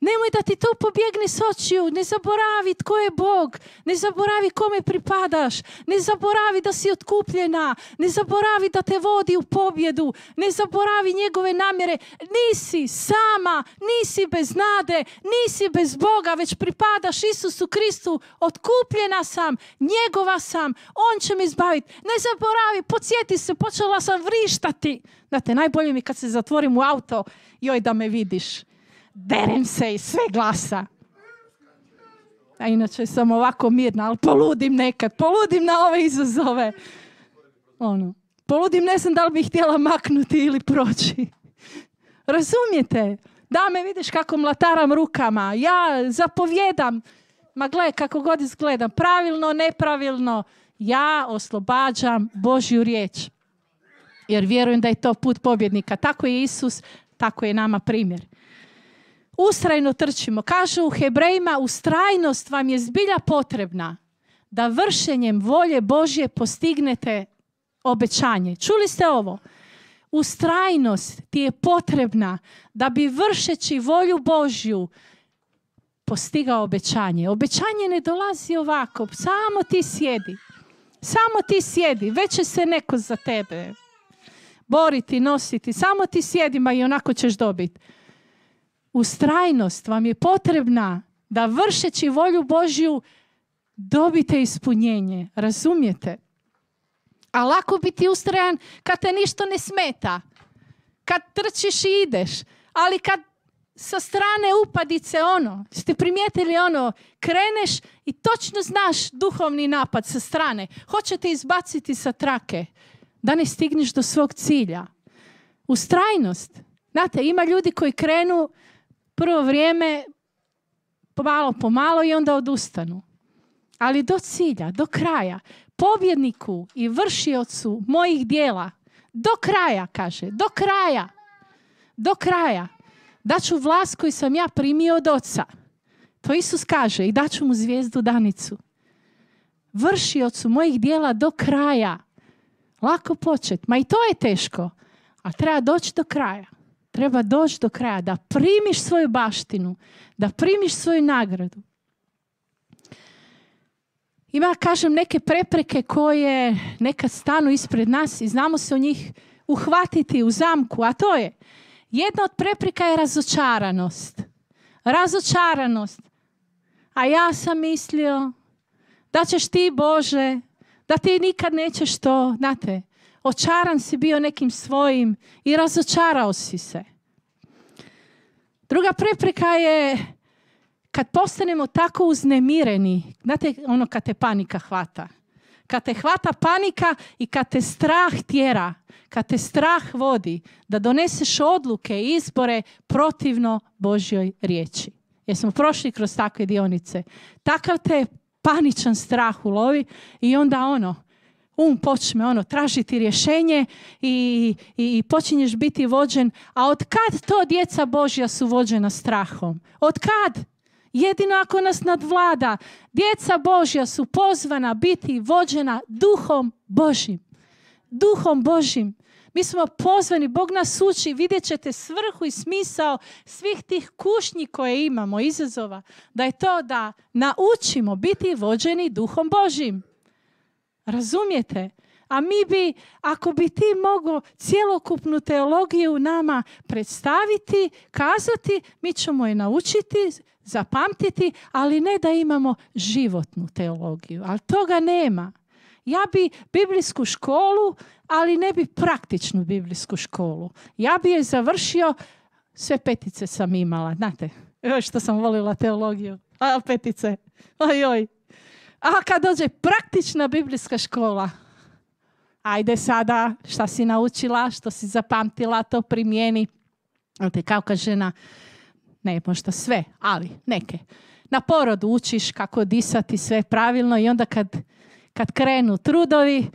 Nemoj da ti to pobjegne s očiju. Ne zaboravi tko je Bog. Ne zaboravi kome pripadaš. Ne zaboravi da si otkupljena. Ne zaboravi da te vodi u pobjedu. Ne zaboravi njegove namjere. Nisi sama, nisi bez nade, nisi bez Boga, već pripadaš Isusu Kristu. Otkupljena sam, njegova sam. On će me izbaviti. Ne zaboravi, podsjeti se, počela sam vrištati. Znate, najbolje mi kad se zatvorim u auto, joj da me vidiš. Derem se iz sve glasa. A inače sam ovako mirna, ali poludim nekad. Poludim na ove izazove. Ono, poludim, ne znam da li bih htjela maknuti ili proći. Razumijete? Da me vidiš kako mlataram rukama. Ja zapovjedam. Ma gle, kako god izgledam. Pravilno, nepravilno. Ja oslobađam Božju riječ. Jer vjerujem da je to put pobjednika. Tako je Isus, tako je nama primjer. Ustrajno trčimo. Kaže u Hebrejima, ustrajnost vam je zbilja potrebna da vršenjem volje Božje postignete obećanje. Čuli ste ovo? Ustrajnost ti je potrebna da bi vršeći volju Božju postigao obećanje. Obećanje ne dolazi ovako. Samo ti sjedi. Samo ti sjedi. Već će se neko za tebe boriti, nositi. Samo ti sjedi, ma i onako ćeš dobiti. Ustrajnost vam je potrebna da vršeći volju Božju dobite ispunjenje. Razumijete? A lako biti ustrajan kad te ništa ne smeta. Kad trčiš i ideš. Ali kad sa strane upadice ono, ste primijetili ono, kreneš i točno znaš duhovni napad sa strane. Hoće te izbaciti sa trake da ne stigneš do svog cilja. Ustrajnost. Znate, ima ljudi koji krenu prvo vrijeme pomalo pomalo i onda odustanu. Ali do cilja, do kraja. Pobjedniku i vršiocu mojih dijela. Do kraja, kaže. Do kraja. Do kraja. Daću vlast koju sam ja primio od Oca. To Isus kaže. I daću mu zvijezdu danicu. Vršiocu mojih dijela do kraja. Lako početi. Ma i to je teško. A treba doći do kraja. Treba doći do kraja. Da primiš svoju baštinu. Da primiš svoju nagradu. Ima, kažem, neke prepreke koje nekad stanu ispred nas i znamo se o njih uhvatiti u zamku, a to je, jedna od prepreka je razočaranost. Razočaranost. A ja sam mislio da ćeš ti, Bože, da ti nikad nećeš to, znate, očaran si bio nekim svojim i razočarao si se. Druga prepreka je kad postanemo tako uznemireni, znate ono kad te panika hvata. Kad te hvata panika i kad te strah tjera, kad te strah vodi da doneseš odluke i izbore protivno Božjoj riječi. Jer smo prošli kroz takve dionice. Takav te paničan strah ulovi i onda ono, um počne ono, tražiti rješenje i, i, i počinješ biti vođen. A od kad to djeca Božja su vođena strahom? Od kad? Jedino ako nas nadvlada. Djeca Božja su pozvana biti vođena duhom Božjim. Duhom Božjim. Mi smo pozvani, Bog nas uči, vidjet ćete svrhu i smisao svih tih kušnji koje imamo, izazova, da je to da naučimo biti vođeni duhom Božjim. Razumijete? A mi bi, ako bi ti mogao cjelokupnu teologiju nama predstaviti, kazati, mi ćemo je naučiti, zapamtiti, ali ne da imamo životnu teologiju. Ali toga nema. Ja bi biblijsku školu, ali ne bi praktičnu biblijsku školu. Ja bi je završio, sve petice sam imala, znate, joj što sam volila teologiju, a petice, ojoj. A kad dođe praktična biblijska škola, ajde sada, šta si naučila, što si zapamtila, to primijeni. Znate, kao ka žena, ne možda sve, ali neke. Na porodu učiš kako disati sve pravilno i onda kad, kad krenu trudovi,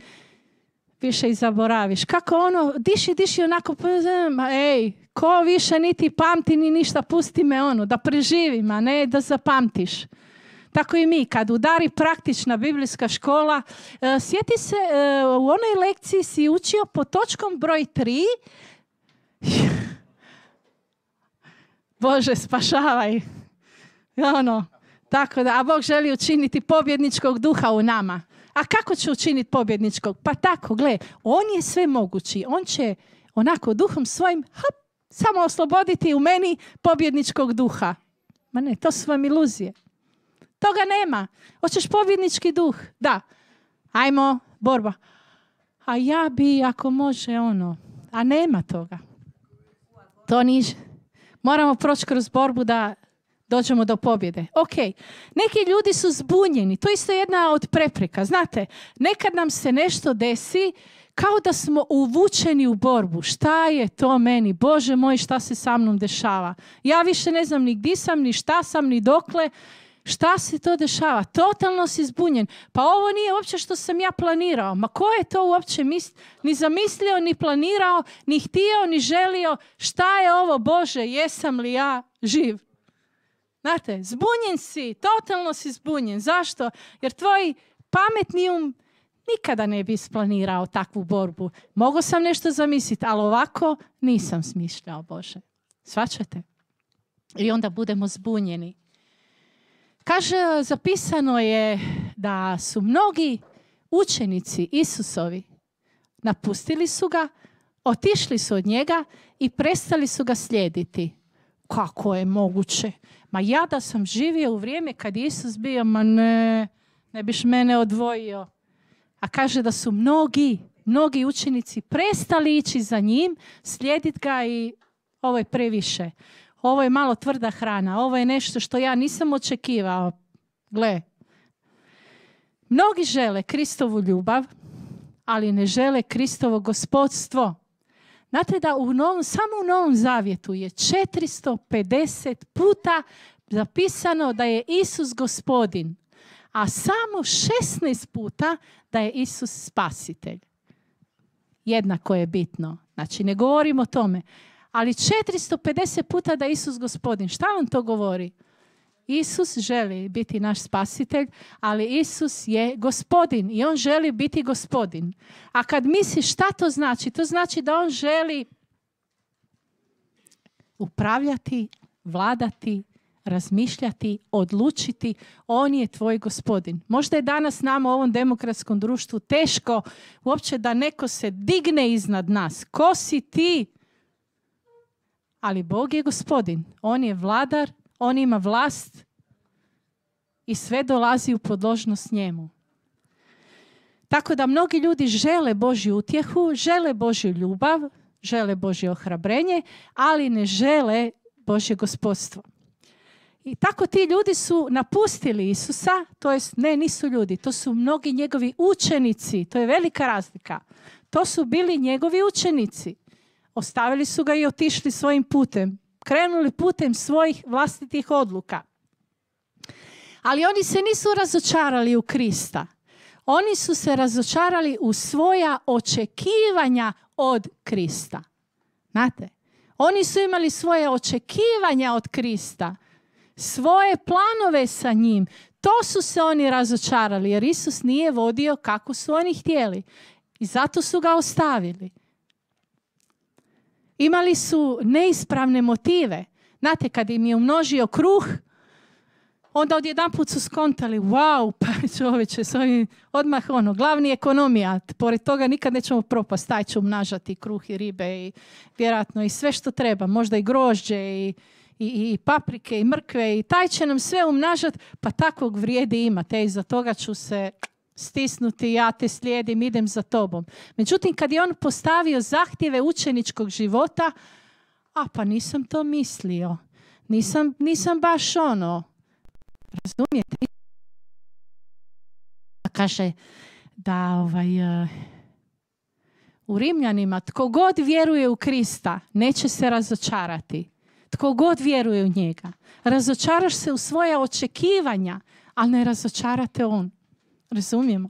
više i zaboraviš. Kako ono, diši, diši onako, ej, ko više niti pamti ni ništa, pusti me ono, da preživim, a ne da zapamtiš. Tako i mi, kad udari praktična biblijska škola, uh, sjeti se, uh, u onoj lekciji si učio po točkom broj tri. Bože, spašavaj. Ono, tako da, a Bog želi učiniti pobjedničkog duha u nama. A kako će učiniti pobjedničkog? Pa tako, gle, on je sve mogući. On će onako duhom svojim hop, samo osloboditi u meni pobjedničkog duha. Ma ne, to su vam iluzije. Toga nema. Hoćeš pobjednički duh? Da. Ajmo, borba. A ja bi, ako može, ono. A nema toga. To niže. Moramo proći kroz borbu da dođemo do pobjede. Ok. Neki ljudi su zbunjeni. To je isto jedna od prepreka. Znate, nekad nam se nešto desi kao da smo uvučeni u borbu. Šta je to meni? Bože moj, šta se sa mnom dešava? Ja više ne znam ni gdje sam, ni šta sam, ni dokle. Šta se to dešava? Totalno si zbunjen. Pa ovo nije uopće što sam ja planirao. Ma ko je to uopće mis- ni zamislio, ni planirao, ni htio, ni želio? Šta je ovo, Bože? Jesam li ja živ? Znate, zbunjen si, totalno si zbunjen. Zašto? Jer tvoj pametni um nikada ne bi isplanirao takvu borbu. Mogao sam nešto zamisliti, ali ovako nisam smišljao, Bože. Shvaćate? I onda budemo zbunjeni. Kaže, zapisano je da su mnogi učenici Isusovi napustili su ga, otišli su od njega i prestali su ga slijediti. Kako je moguće? Ma ja da sam živio u vrijeme kad je Isus bio, ma ne, ne biš mene odvojio. A kaže da su mnogi, mnogi učenici prestali ići za njim, slijediti ga i ovo je previše. Ovo je malo tvrda hrana, ovo je nešto što ja nisam očekivao. Gle, mnogi žele Kristovu ljubav, ali ne žele Kristovo gospodstvo. Znate da u novom, samo u Novom Zavjetu je četiristo pedeset puta zapisano da je Isus gospodin, a samo šesnaest puta da je Isus spasitelj. Jednako je bitno. Znači, ne govorimo o tome. Ali četiristo pedeset puta da je Isus gospodin. Šta vam to govori? Isus želi biti naš spasitelj, ali Isus je gospodin i on želi biti gospodin. A kad misliš šta to znači? To znači da on želi upravljati, vladati, razmišljati, odlučiti. On je tvoj gospodin. Možda je danas nama u ovom demokratskom društvu teško uopće da neko se digne iznad nas. Ko si ti? Ali Bog je gospodin. On je vladar, on ima vlast i sve dolazi u podložnost njemu. Tako da mnogi ljudi žele Božju utjehu, žele Božju ljubav, žele Božje ohrabrenje, ali ne žele Božje gospodstvo. I tako ti ljudi su napustili Isusa, to jest ne, nisu ljudi, to su mnogi njegovi učenici, to je velika razlika. To su bili njegovi učenici. Ostavili su ga i otišli svojim putem. Krenuli putem svojih vlastitih odluka. Ali oni se nisu razočarali u Krista. Oni su se razočarali u svoja očekivanja od Krista. Znate? Oni su imali svoje očekivanja od Krista. Svoje planove sa njim. To su se oni razočarali jer Isus nije vodio kako su oni htjeli. I zato su ga ostavili. Imali su neispravne motive. Znate, kad im je umnožio kruh, onda odjedanput su skontali, wow, pa čovječe, s ovim odmah ono, glavni ekonomija, pored toga nikad nećemo propast, taj će umnažati kruh i ribe i vjerojatno i sve što treba, možda i grožđe i, i, i paprike i mrkve i taj će nam sve umnažati, pa takvog vrijedi imate i za toga ću se stisnuti, ja te slijedim, idem za tobom. Međutim, kad je on postavio zahtjeve učeničkog života, a pa nisam to mislio, nisam, nisam baš ono, razumijete? Kaže da ovaj, uh, u Rimljanima tko god vjeruje u Krista neće se razočarati. Tko god vjeruje u njega. Razočaraš se u svoja očekivanja, ali ne razočarate on. Razumijemo?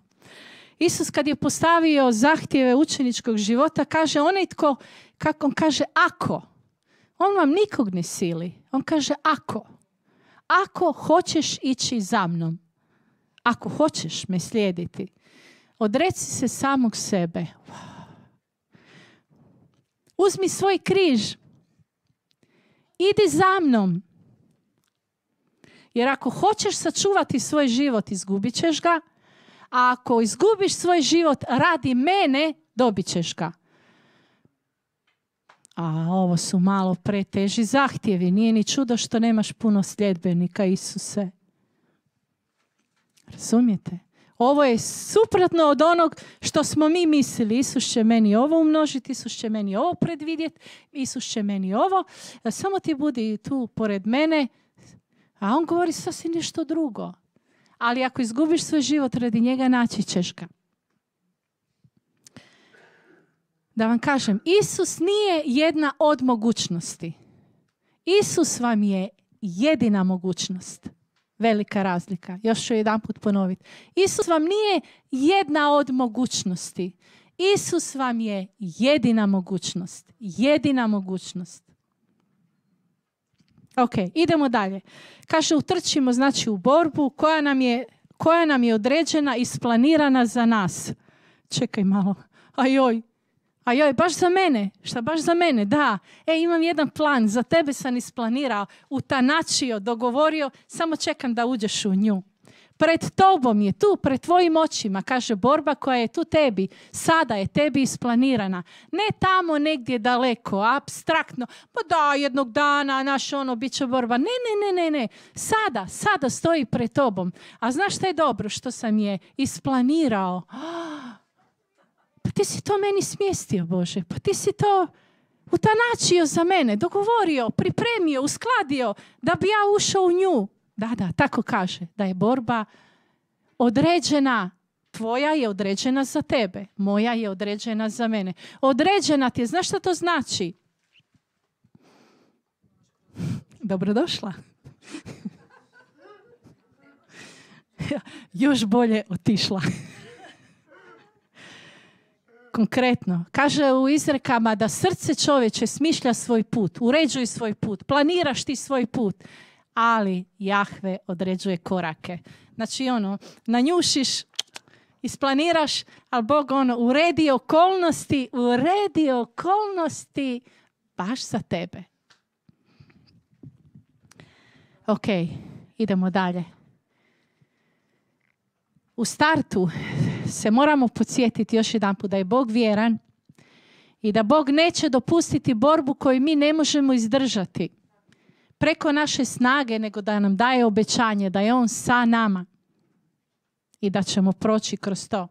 Isus kad je postavio zahtjeve učeničkog života, kaže onaj tko, kako on kaže, ako. On vam nikog ne sili. On kaže ako. Ako hoćeš ići za mnom, ako hoćeš me slijediti, odreci se samog sebe. Uzmi svoj križ. Idi za mnom. Jer ako hoćeš sačuvati svoj život, izgubit ćeš ga. A ako izgubiš svoj život radi mene, dobit ćeš ga. A ovo su malo preteži zahtjevi. Nije ni čudo što nemaš puno sljedbenika, Isuse. Razumijete? Ovo je suprotno od onog što smo mi mislili. Isus će meni ovo umnožiti, Isus će meni ovo predvidjeti, Isus će meni ovo. Samo ti budi tu pored mene. A on govori sasvim nešto drugo. Ali ako izgubiš svoj život radi njega, naći ćeš ga. Da vam kažem, Isus nije jedna od mogućnosti. Isus vam je jedina mogućnost. Velika razlika. Još ću jedan put ponoviti. Isus vam nije jedna od mogućnosti. Isus vam je jedina mogućnost. Jedina mogućnost. Ok, idemo dalje. Kaže, utrčimo znači u borbu koja nam je, koja nam je određena, isplanirana za nas. Čekaj malo. Ajoj. Ajoj, baš za mene. Šta, baš za mene? Da. E, imam jedan plan. Za tebe sam isplanirao, utanačio, dogovorio. Samo čekam da uđeš u nju. Pred tobom je tu, pred tvojim očima, kaže, borba koja je tu tebi, sada je tebi isplanirana. Ne tamo negdje daleko, apstraktno, pa da, jednog dana, naš ono, bit će borba. Ne, ne, ne, ne, ne. Sada, sada stoji pred tobom. A znaš šta je dobro što sam je isplanirao? Pa ti si to meni smjestio, Bože. Pa ti si to utanačio za mene, dogovorio, pripremio, uskladio da bi ja ušao u nju. Da, da, tako kaže, da je borba određena. Tvoja je određena za tebe, moja je određena za mene. Određena ti je, znaš šta to znači? Dobrodošla. Još bolje otišla. Konkretno, kaže u izrekama da srce čovječe smišlja svoj put, uređuj svoj put, planiraš ti svoj put. Ali Jahve određuje korake. Znači ono, nanjušiš, isplaniraš, ali Bog ono, uredi okolnosti, uredi okolnosti baš za tebe. Ok, idemo dalje. U startu se moramo podsjetiti još jedan put da je Bog vjeran i da Bog neće dopustiti borbu koju mi ne možemo izdržati preko naše snage, nego da nam daje obećanje da je On sa nama i da ćemo proći kroz to.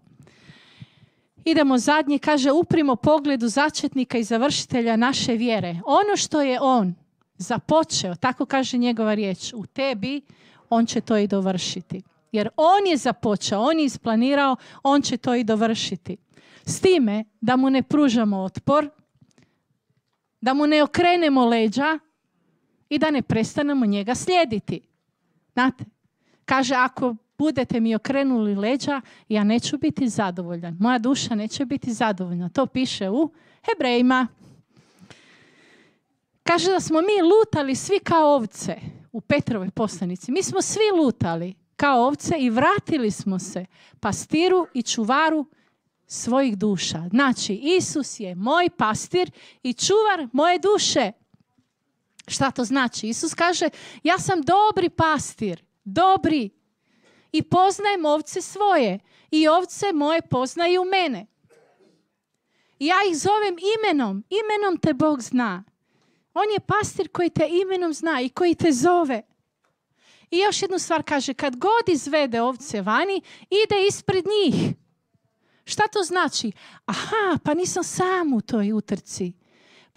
Idemo zadnje, kaže, uprimo pogledu začetnika i završitelja naše vjere. Ono što je On započeo, tako kaže njegova riječ, u tebi, On će to i dovršiti. Jer On je započeo, On je isplanirao, On će to i dovršiti. S time da mu ne pružamo otpor, da mu ne okrenemo leđa, i da ne prestanemo njega slijediti. Znate, kaže, ako budete mi okrenuli leđa, ja neću biti zadovoljan. Moja duša neće biti zadovoljna. To piše u Hebrejima. Kaže da smo mi lutali svi kao ovce u Petrovoj poslanici. Mi smo svi lutali kao ovce i vratili smo se pastiru i čuvaru svojih duša. Znači, Isus je moj pastir i čuvar moje duše. Šta to znači? Isus kaže, ja sam dobri pastir, dobri, i poznajem ovce svoje i ovce moje poznaju mene. I ja ih zovem imenom, imenom te Bog zna. On je pastir koji te imenom zna i koji te zove. I još jednu stvar kaže, kad god izvede ovce vani, ide ispred njih. Šta to znači? Aha, pa nisam sam u toj utrci.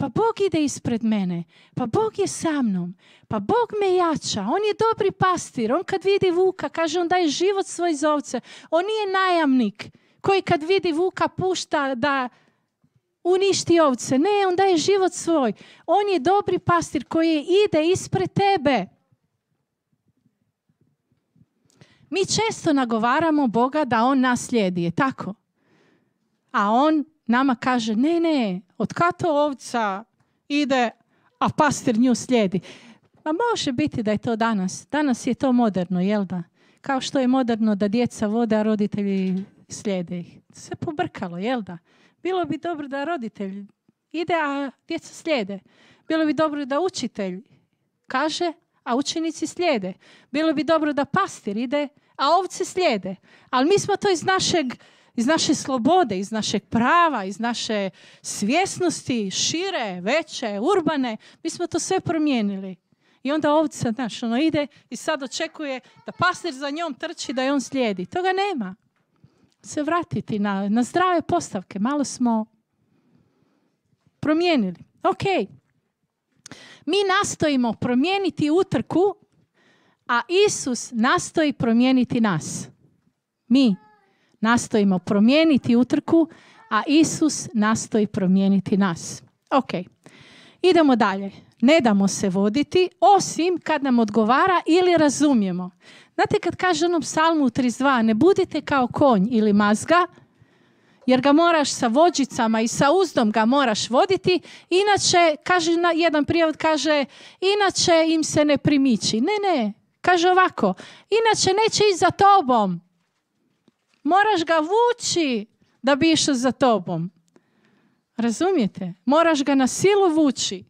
Pa Bog ide ispred mene, pa Bog je sa mnom, pa Bog me jača, On je dobri pastir, On kad vidi vuka, kaže, On daje život svoj za ovce. On nije najamnik koji kad vidi vuka pušta da uništi ovce. Ne, On daje život svoj. On je dobri pastir koji ide ispred tebe. Mi često nagovaramo Boga da On nas slijedi, je tako? A On nama kaže, ne, ne, od kad to ovca ide, a pastir nju slijedi? Ma može biti da je to danas. Danas je to moderno, jel da? Kao što je moderno da djeca vode, a roditelji slijede ih. Se pobrkalo, jel da? Bilo bi dobro da roditelj ide, a djeca slijede. Bilo bi dobro da učitelj kaže, a učenici slijede. Bilo bi dobro da pastir ide, a ovce slijede. Ali mi smo to iz našeg iz naše slobode, iz našeg prava, iz naše svjesnosti, šire, veće, urbane, mi smo to sve promijenili. I onda ovca, znaš, ono ide i sad očekuje da pastir za njom trči, da je on slijedi. Toga nema. Se vratiti na, na zdrave postavke. Malo smo promijenili. Ok. Mi nastojimo promijeniti utrku, a Isus nastoji promijeniti nas. Mi nastojimo promijeniti utrku, a Isus nastoji promijeniti nas. Ok, idemo dalje. Ne damo se voditi, osim kad nam odgovara ili razumijemo. Znate kad kaže onom psalmu trideset dva, ne budite kao konj ili mazga, jer ga moraš sa vođicama i sa uzdom ga moraš voditi, inače, kaže, jedan prijevod kaže, inače im se ne primiči. Ne, ne, kaže ovako, inače neće ići za tobom. Moraš ga vući da bi išao za tobom. Razumijete? Moraš ga na silu vući.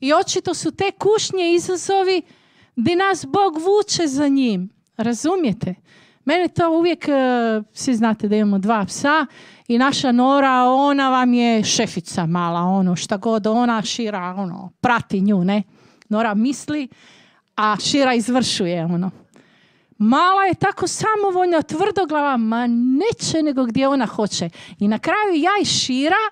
I očito su te kušnje izazovi gdje nas Bog vuče za njim. Razumijete? Mene to uvijek, svi znate da imamo dva psa i naša Nora, ona vam je šefica mala, ono, šta god, ona Šira, ono, prati nju, ne? Nora misli, a Šira izvršuje, ono. Mala je tako samovoljna, tvrdoglava, ma neće nego gdje ona hoće. I na kraju ja i Šira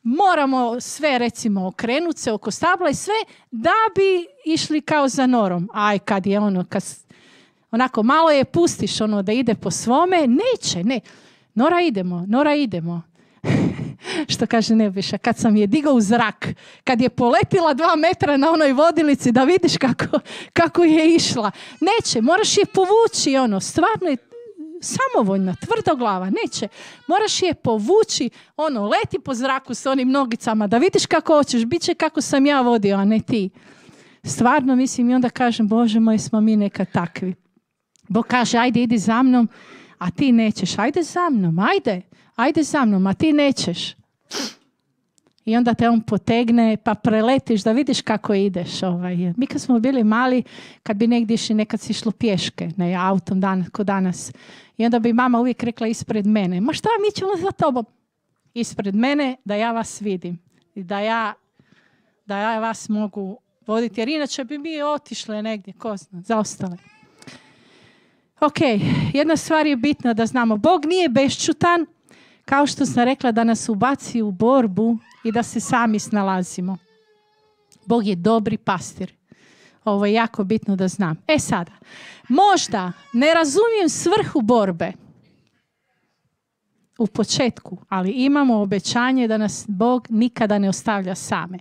moramo sve, recimo, okrenuti se oko stabla i sve da bi išli kao za Norom. Aj, kad je ono, kad onako malo je pustiš ono da ide po svome, neće, ne. Nora idemo, Nora idemo. Što kaže Nebojša, kad sam je digao u zrak, kad je poletila dva metra na onoj vodilici da vidiš kako, kako je išla. Neće, moraš je povući, ono, stvarno je samovoljna, tvrdoglava, neće. Moraš je povući, ono, leti po zraku s onim nogicama da vidiš kako hoćeš, bit će kako sam ja vodio, a ne ti. Stvarno, mislim, i onda kažem, Bože moj, smo mi nekad takvi. Bog kaže, ajde, idi za mnom, a ti nećeš. Ajde za mnom, ajde, ajde za mnom, a ti nećeš. I onda te on potegne, pa preletiš da vidiš kako ideš. Ovaj. Mi kad smo bili mali, kad bi negdje išli, nekad si išlo pješke, ne autom danas, ko danas. I onda bi mama uvijek rekla ispred mene, ma šta, mi ćemo za tobom. Ispred mene, da ja vas vidim. I da ja, da ja vas mogu voditi, jer inače bi mi otišle negdje, ko zna, zaostale. Ok, jedna stvar je bitna da znamo. Bog nije bešćutan, kao što sam rekla, da nas ubaci u borbu i da se sami snalazimo. Bog je dobri pastir. Ovo je jako bitno da znam. E sada, možda ne razumijem svrhu borbe u početku, ali imamo obećanje da nas Bog nikada ne ostavlja same.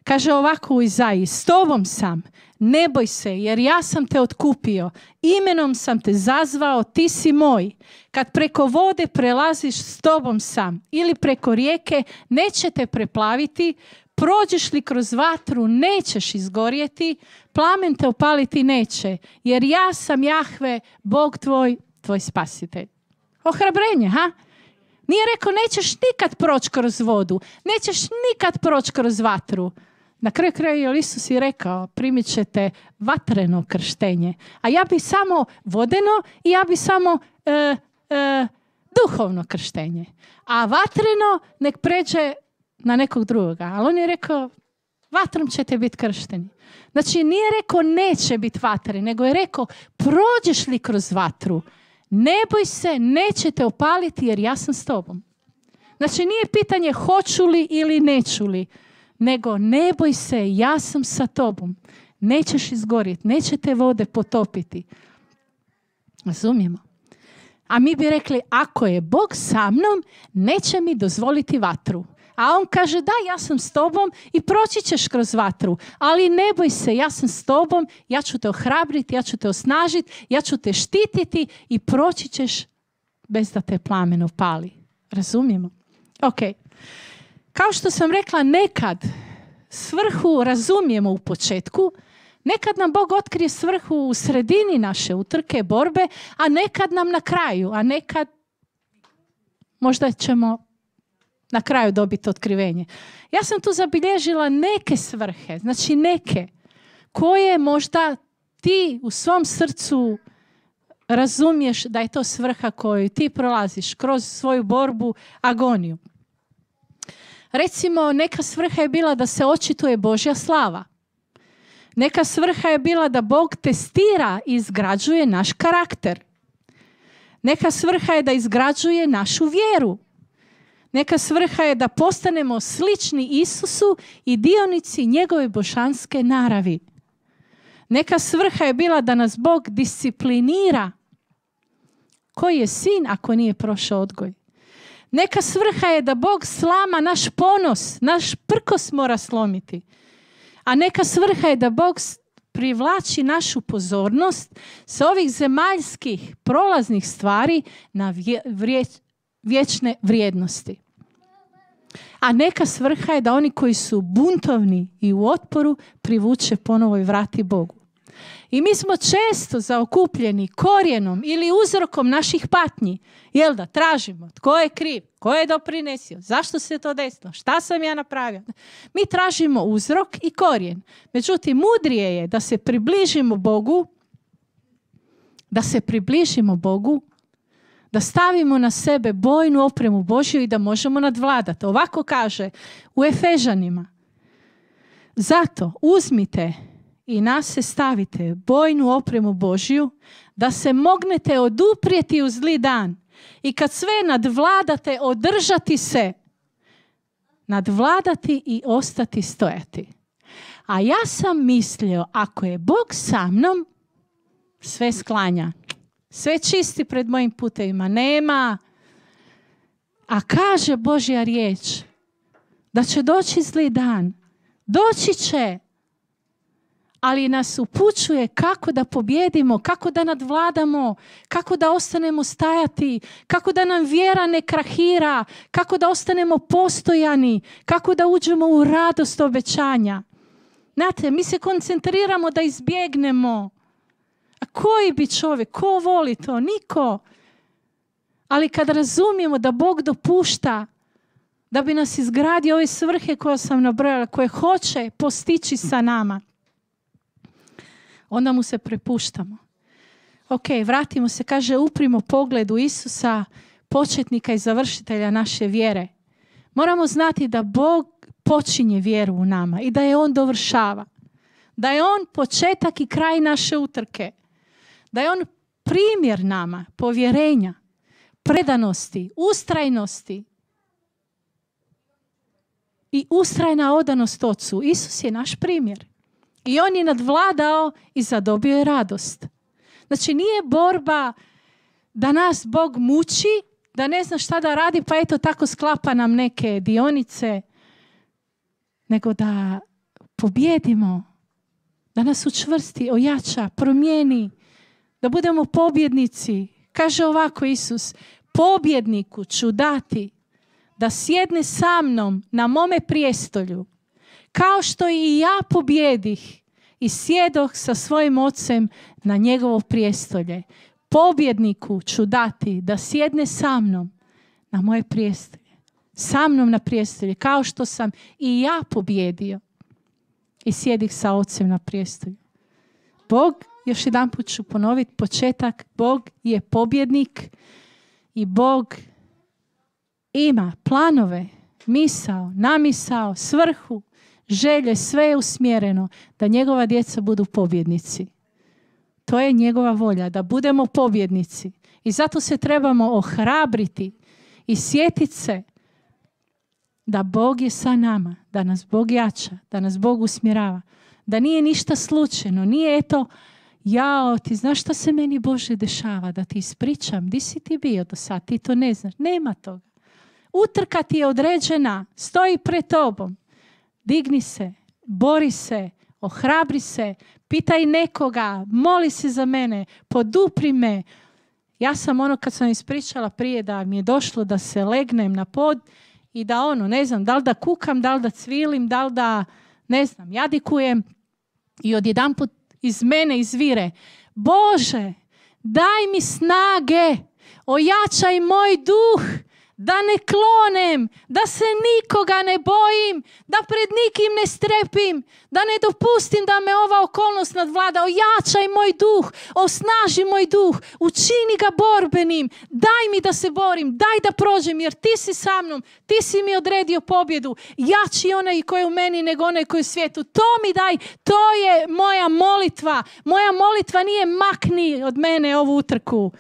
Kaže ovako u Izaiji, s tobom sam, ne boj se, jer ja sam te otkupio, imenom sam te zazvao, ti si moj. Kad preko vode prelaziš, s tobom sam, ili preko rijeke, neće te preplaviti, prođeš li kroz vatru, nećeš izgorjeti, plamen te opaliti neće, jer ja sam Jahve, Bog tvoj, tvoj spasitelj. Ohrabrenje, ha? Nije rekao, nećeš nikad proći kroz vodu, nećeš nikad proći kroz vatru. Na kraju kraju Isus je rekao, primit ćete vatreno krštenje, a ja bi samo vodeno i ja bi samo e, e, duhovno krštenje. A vatreno nek pređe na nekog drugoga. Ali on je rekao, vatrom ćete biti kršteni. Znači nije rekao neće biti vatre, nego je rekao, prođeš li kroz vatru, ne boj se, neće te opaliti jer ja sam s tobom. Znači nije pitanje hoću li ili neću li, nego ne boj se, ja sam sa tobom. Nećeš izgorjeti, neće te vode potopiti. Razumijemo? A mi bi rekli, ako je Bog sa mnom, neće mi dozvoliti vatru. A on kaže, da, ja sam s tobom i proći ćeš kroz vatru. Ali ne boj se, ja sam s tobom, ja ću te ohrabriti, ja ću te osnažiti, ja ću te štititi i proći ćeš bez da te plamen opali. Razumijemo? Ok. Kao što sam rekla, nekad svrhu razumijemo u početku, nekad nam Bog otkrije svrhu u sredini naše utrke, borbe, a nekad nam na kraju, a nekad možda ćemo na kraju dobiti otkrivenje. Ja sam tu zabilježila neke svrhe, znači neke, koje možda ti u svom srcu razumiješ da je to svrha koju ti prolaziš kroz svoju borbu, agoniju. Recimo, neka svrha je bila da se očituje Božja slava. Neka svrha je bila da Bog testira i izgrađuje naš karakter. Neka svrha je da izgrađuje našu vjeru. Neka svrha je da postanemo slični Isusu i dionici njegove božanske naravi. Neka svrha je bila da nas Bog disciplinira. Koji je sin ako nije prošao odgoj? Neka svrha je da Bog slama naš ponos, naš prkos mora slomiti. A neka svrha je da Bog privlači našu pozornost sa ovih zemaljskih prolaznih stvari na vje, vrije, vječne vrijednosti. A neka svrha je da oni koji su buntovni i u otporu privuče ponovo i vrati Bogu. I mi smo često zaokupljeni korijenom ili uzrokom naših patnji. Jel da tražimo tko je kriv, tko je doprinesio, zašto se to desilo, šta sam ja napravio. Mi tražimo uzrok i korijen. Međutim, mudrije je da se približimo Bogu, da se približimo Bogu, da stavimo na sebe bojnu opremu Božju i da možemo nadvladati. Ovako kaže u Efežanima. Zato uzmite i nas se stavite bojnu opremu Božju da se mognete oduprijeti u zli dan i kad sve nadvladate održati se, nadvladati i ostati stojati. A ja sam mislio, ako je Bog sa mnom, sve sklanja. Sve čisti pred mojim putevima. Nema. A kaže Božja riječ da će doći zli dan. Doći će. Ali nas upućuje kako da pobjedimo, kako da nadvladamo, kako da ostanemo stajati, kako da nam vjera ne krahira, kako da ostanemo postojani, kako da uđemo u radost obećanja. Znate, mi se koncentriramo da izbjegnemo. A koji bi čovjek, ko voli to? Niko. Ali kad razumijemo da Bog dopušta da bi nas izgradio ove svrhe koje sam nabrojala, koje hoće postići sa nama, onda mu se prepuštamo. Ok, vratimo se, kaže, uprimo pogled u Isusa, početnika i završitelja naše vjere. Moramo znati da Bog počinje vjeru u nama i da je On dovršava. Da je On početak i kraj naše utrke. Da je On primjer nama povjerenja, predanosti, ustrajnosti i ustrajna odanost Ocu. Isus je naš primjer. I On je nadvladao i zadobio je radost. Znači nije borba da nas Bog muči, da ne zna šta da radi, pa eto tako sklapa nam neke dionice, nego da pobjedimo, da nas učvrsti, ojača, promijeni, da budemo pobjednici. Kaže ovako Isus, pobjedniku ću dati da sjedne sa mnom na mome prijestolju, kao što i ja pobjedih i sjedoh sa svojim ocem na njegovo prijestolje. Pobjedniku ću dati da sjedne sa mnom na moje prijestolje. Sa mnom na prijestolje, kao što sam i ja pobjedio i sjedih sa ocem na prijestolju. Bog, još jedan put ću ponoviti početak, Bog je pobjednik i Bog ima planove, misao, namisao, svrhu, želje, sve je usmjereno da njegova djeca budu pobjednici. To je njegova volja, da budemo pobjednici. I zato se trebamo ohrabriti i sjetiti se da Bog je sa nama, da nas Bog jača, da nas Bog usmjerava. Da nije ništa slučajno, nije eto, jao, ti znaš šta se meni Bože dešava, da ti ispričam, di si ti bio do sad, ti to ne znaš. Nema toga. Utrka ti je određena, stoji pred tobom. Digni se, bori se, ohrabri se, pitaj nekoga, moli se za mene, podupri me. Ja sam ono kad sam ispričala prije da mi je došlo da se legnem na pod i da ono, ne znam, da li da kukam, da li da cvilim, da li da, ne znam, jadikujem i odjedanput iz mene izvire, Bože, daj mi snage, ojačaj moj duh, da ne klonem, da se nikoga ne bojim, da pred nikim ne strepim, da ne dopustim da me ova okolnost nadvlada. Ojačaj moj duh, osnaži moj duh, učini ga borbenim, daj mi da se borim, daj da prođem, jer ti si sa mnom, ti si mi odredio pobjedu. Jači onaj koji je u meni nego onaj koji je u svijetu. To mi daj, to je moja molitva. Moja molitva nije makni od mene ovu utrku.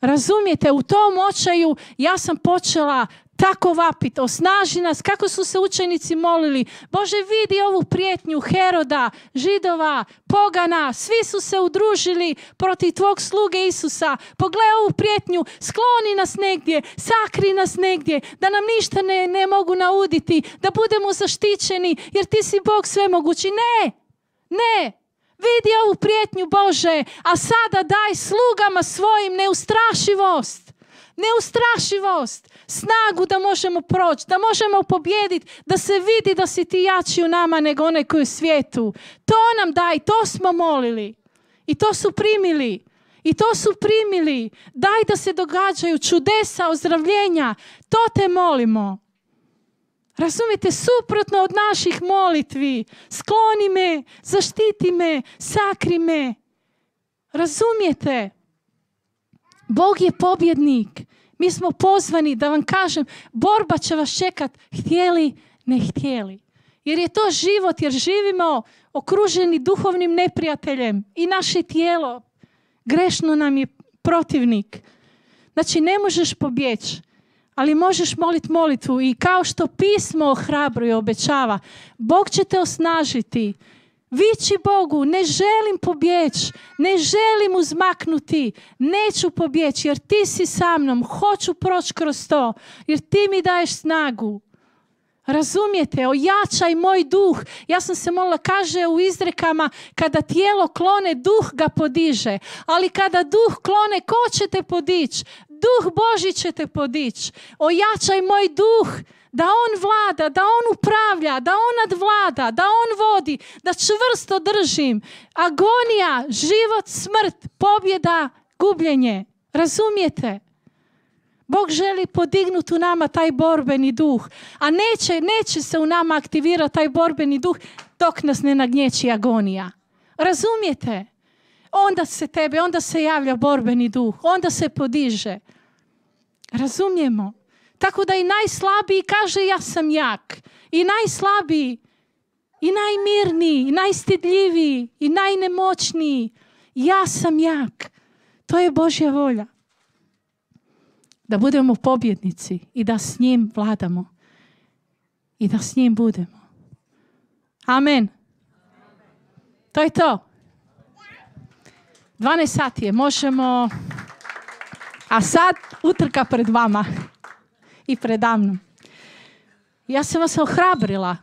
Razumijete, u tom očaju ja sam počela tako vapiti, osnaži nas, kako su se učenici molili. Bože, vidi ovu prijetnju Heroda, Židova, pogana, svi su se udružili protiv tvog sluge Isusa. Pogledaj ovu prijetnju, skloni nas negdje, sakri nas negdje, da nam ništa ne, ne mogu nauditi, da budemo zaštićeni, jer ti si Bog svemogući. Ne, ne. Vidi ovu prijetnju, Bože, a sada daj slugama svojim neustrašivost. Neustrašivost, snagu da možemo proći, da možemo pobijediti, da se vidi da si ti jači u nama nego onaj koji je u svijetu. To nam daj, to smo molili. I to su primili. I to su primili. Daj da se događaju čudesa, ozdravljenja. To te molimo. Razumijete, suprotno od naših molitvi. Skloni me, zaštiti me, sakri me. Razumijete? Bog je pobjednik. Mi smo pozvani da vam kažem, borba će vas čekat, htjeli, ne htjeli. Jer je to život, jer živimo okruženi duhovnim neprijateljem i naše tijelo grešno nam je protivnik. Znači ne možeš pobjeći, ali možeš moliti molitvu i kao što pismo ohrabruje i obećava, Bog će te osnažiti. Viči Bogu, ne želim pobjeći, ne želim uzmaknuti, neću pobjeći jer ti si sa mnom, hoću proći kroz to, jer ti mi daješ snagu. Razumijete, ojačaj moj duh. Ja sam se molila, kaže u izrekama, kada tijelo klone, duh ga podiže. Ali kada duh klone, ko će te podići? Duh Božji će te podići. Ojačaj moj duh, da on vlada, da on upravlja, da on nadvlada, da on vodi, da čvrsto držim. Agonija, život, smrt, pobjeda, gubljenje. Razumijete? Bog želi podignuti u nama taj borbeni duh, a neće, neće se u nama aktivirati taj borbeni duh dok nas ne nagnječi agonija. Razumijete? Onda se tebe, onda se javlja borbeni duh, onda se podiže. Razumijemo? Tako da i najslabiji kaže ja sam jak. I najslabiji, i najmirniji, i najstidljiviji, i najnemoćniji. Ja sam jak. To je Božja volja. Da budemo pobjednici i da s njim vladamo. I da s njim budemo. Amen. To je to. dvanaest sati je, možemo... A sad utrka pred vama i predamnom. Ja sam vas ohrabrila.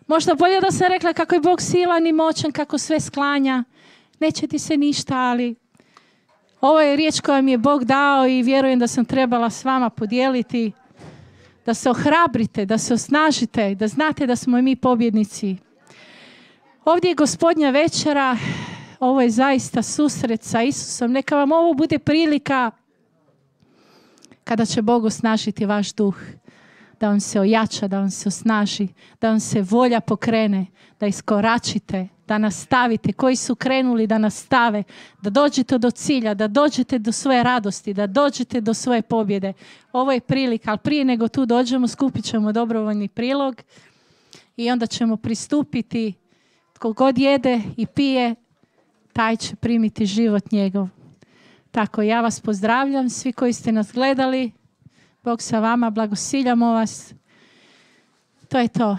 Možda bolje da sam rekla kako je Bog silan i moćan, kako sve sklanja. Neće ti se ništa, ali ovo je riječ koja mi je Bog dao i vjerujem da sam trebala s vama podijeliti. Da se ohrabrite, da se osnažite, da znate da smo i mi pobjednici. Ovdje je Gospodnja večera. Ovo je zaista susret sa Isusom. Neka vam ovo bude prilika kada će Bog osnažiti vaš duh, da vam se ojača, da vam se osnaži, da vam se volja pokrene, da iskoračite, da nastavite, koji su krenuli da nastave, da dođete do cilja, da dođete do svoje radosti, da dođete do svoje pobjede. Ovo je prilika, ali prije nego tu dođemo, skupit ćemo dobrovoljni prilog i onda ćemo pristupiti. Tko god jede i pije, taj će primiti život njegov. Tako, ja vas pozdravljam, svi koji ste nas gledali. Bog sa vama, blagosiljamo vas. To je to.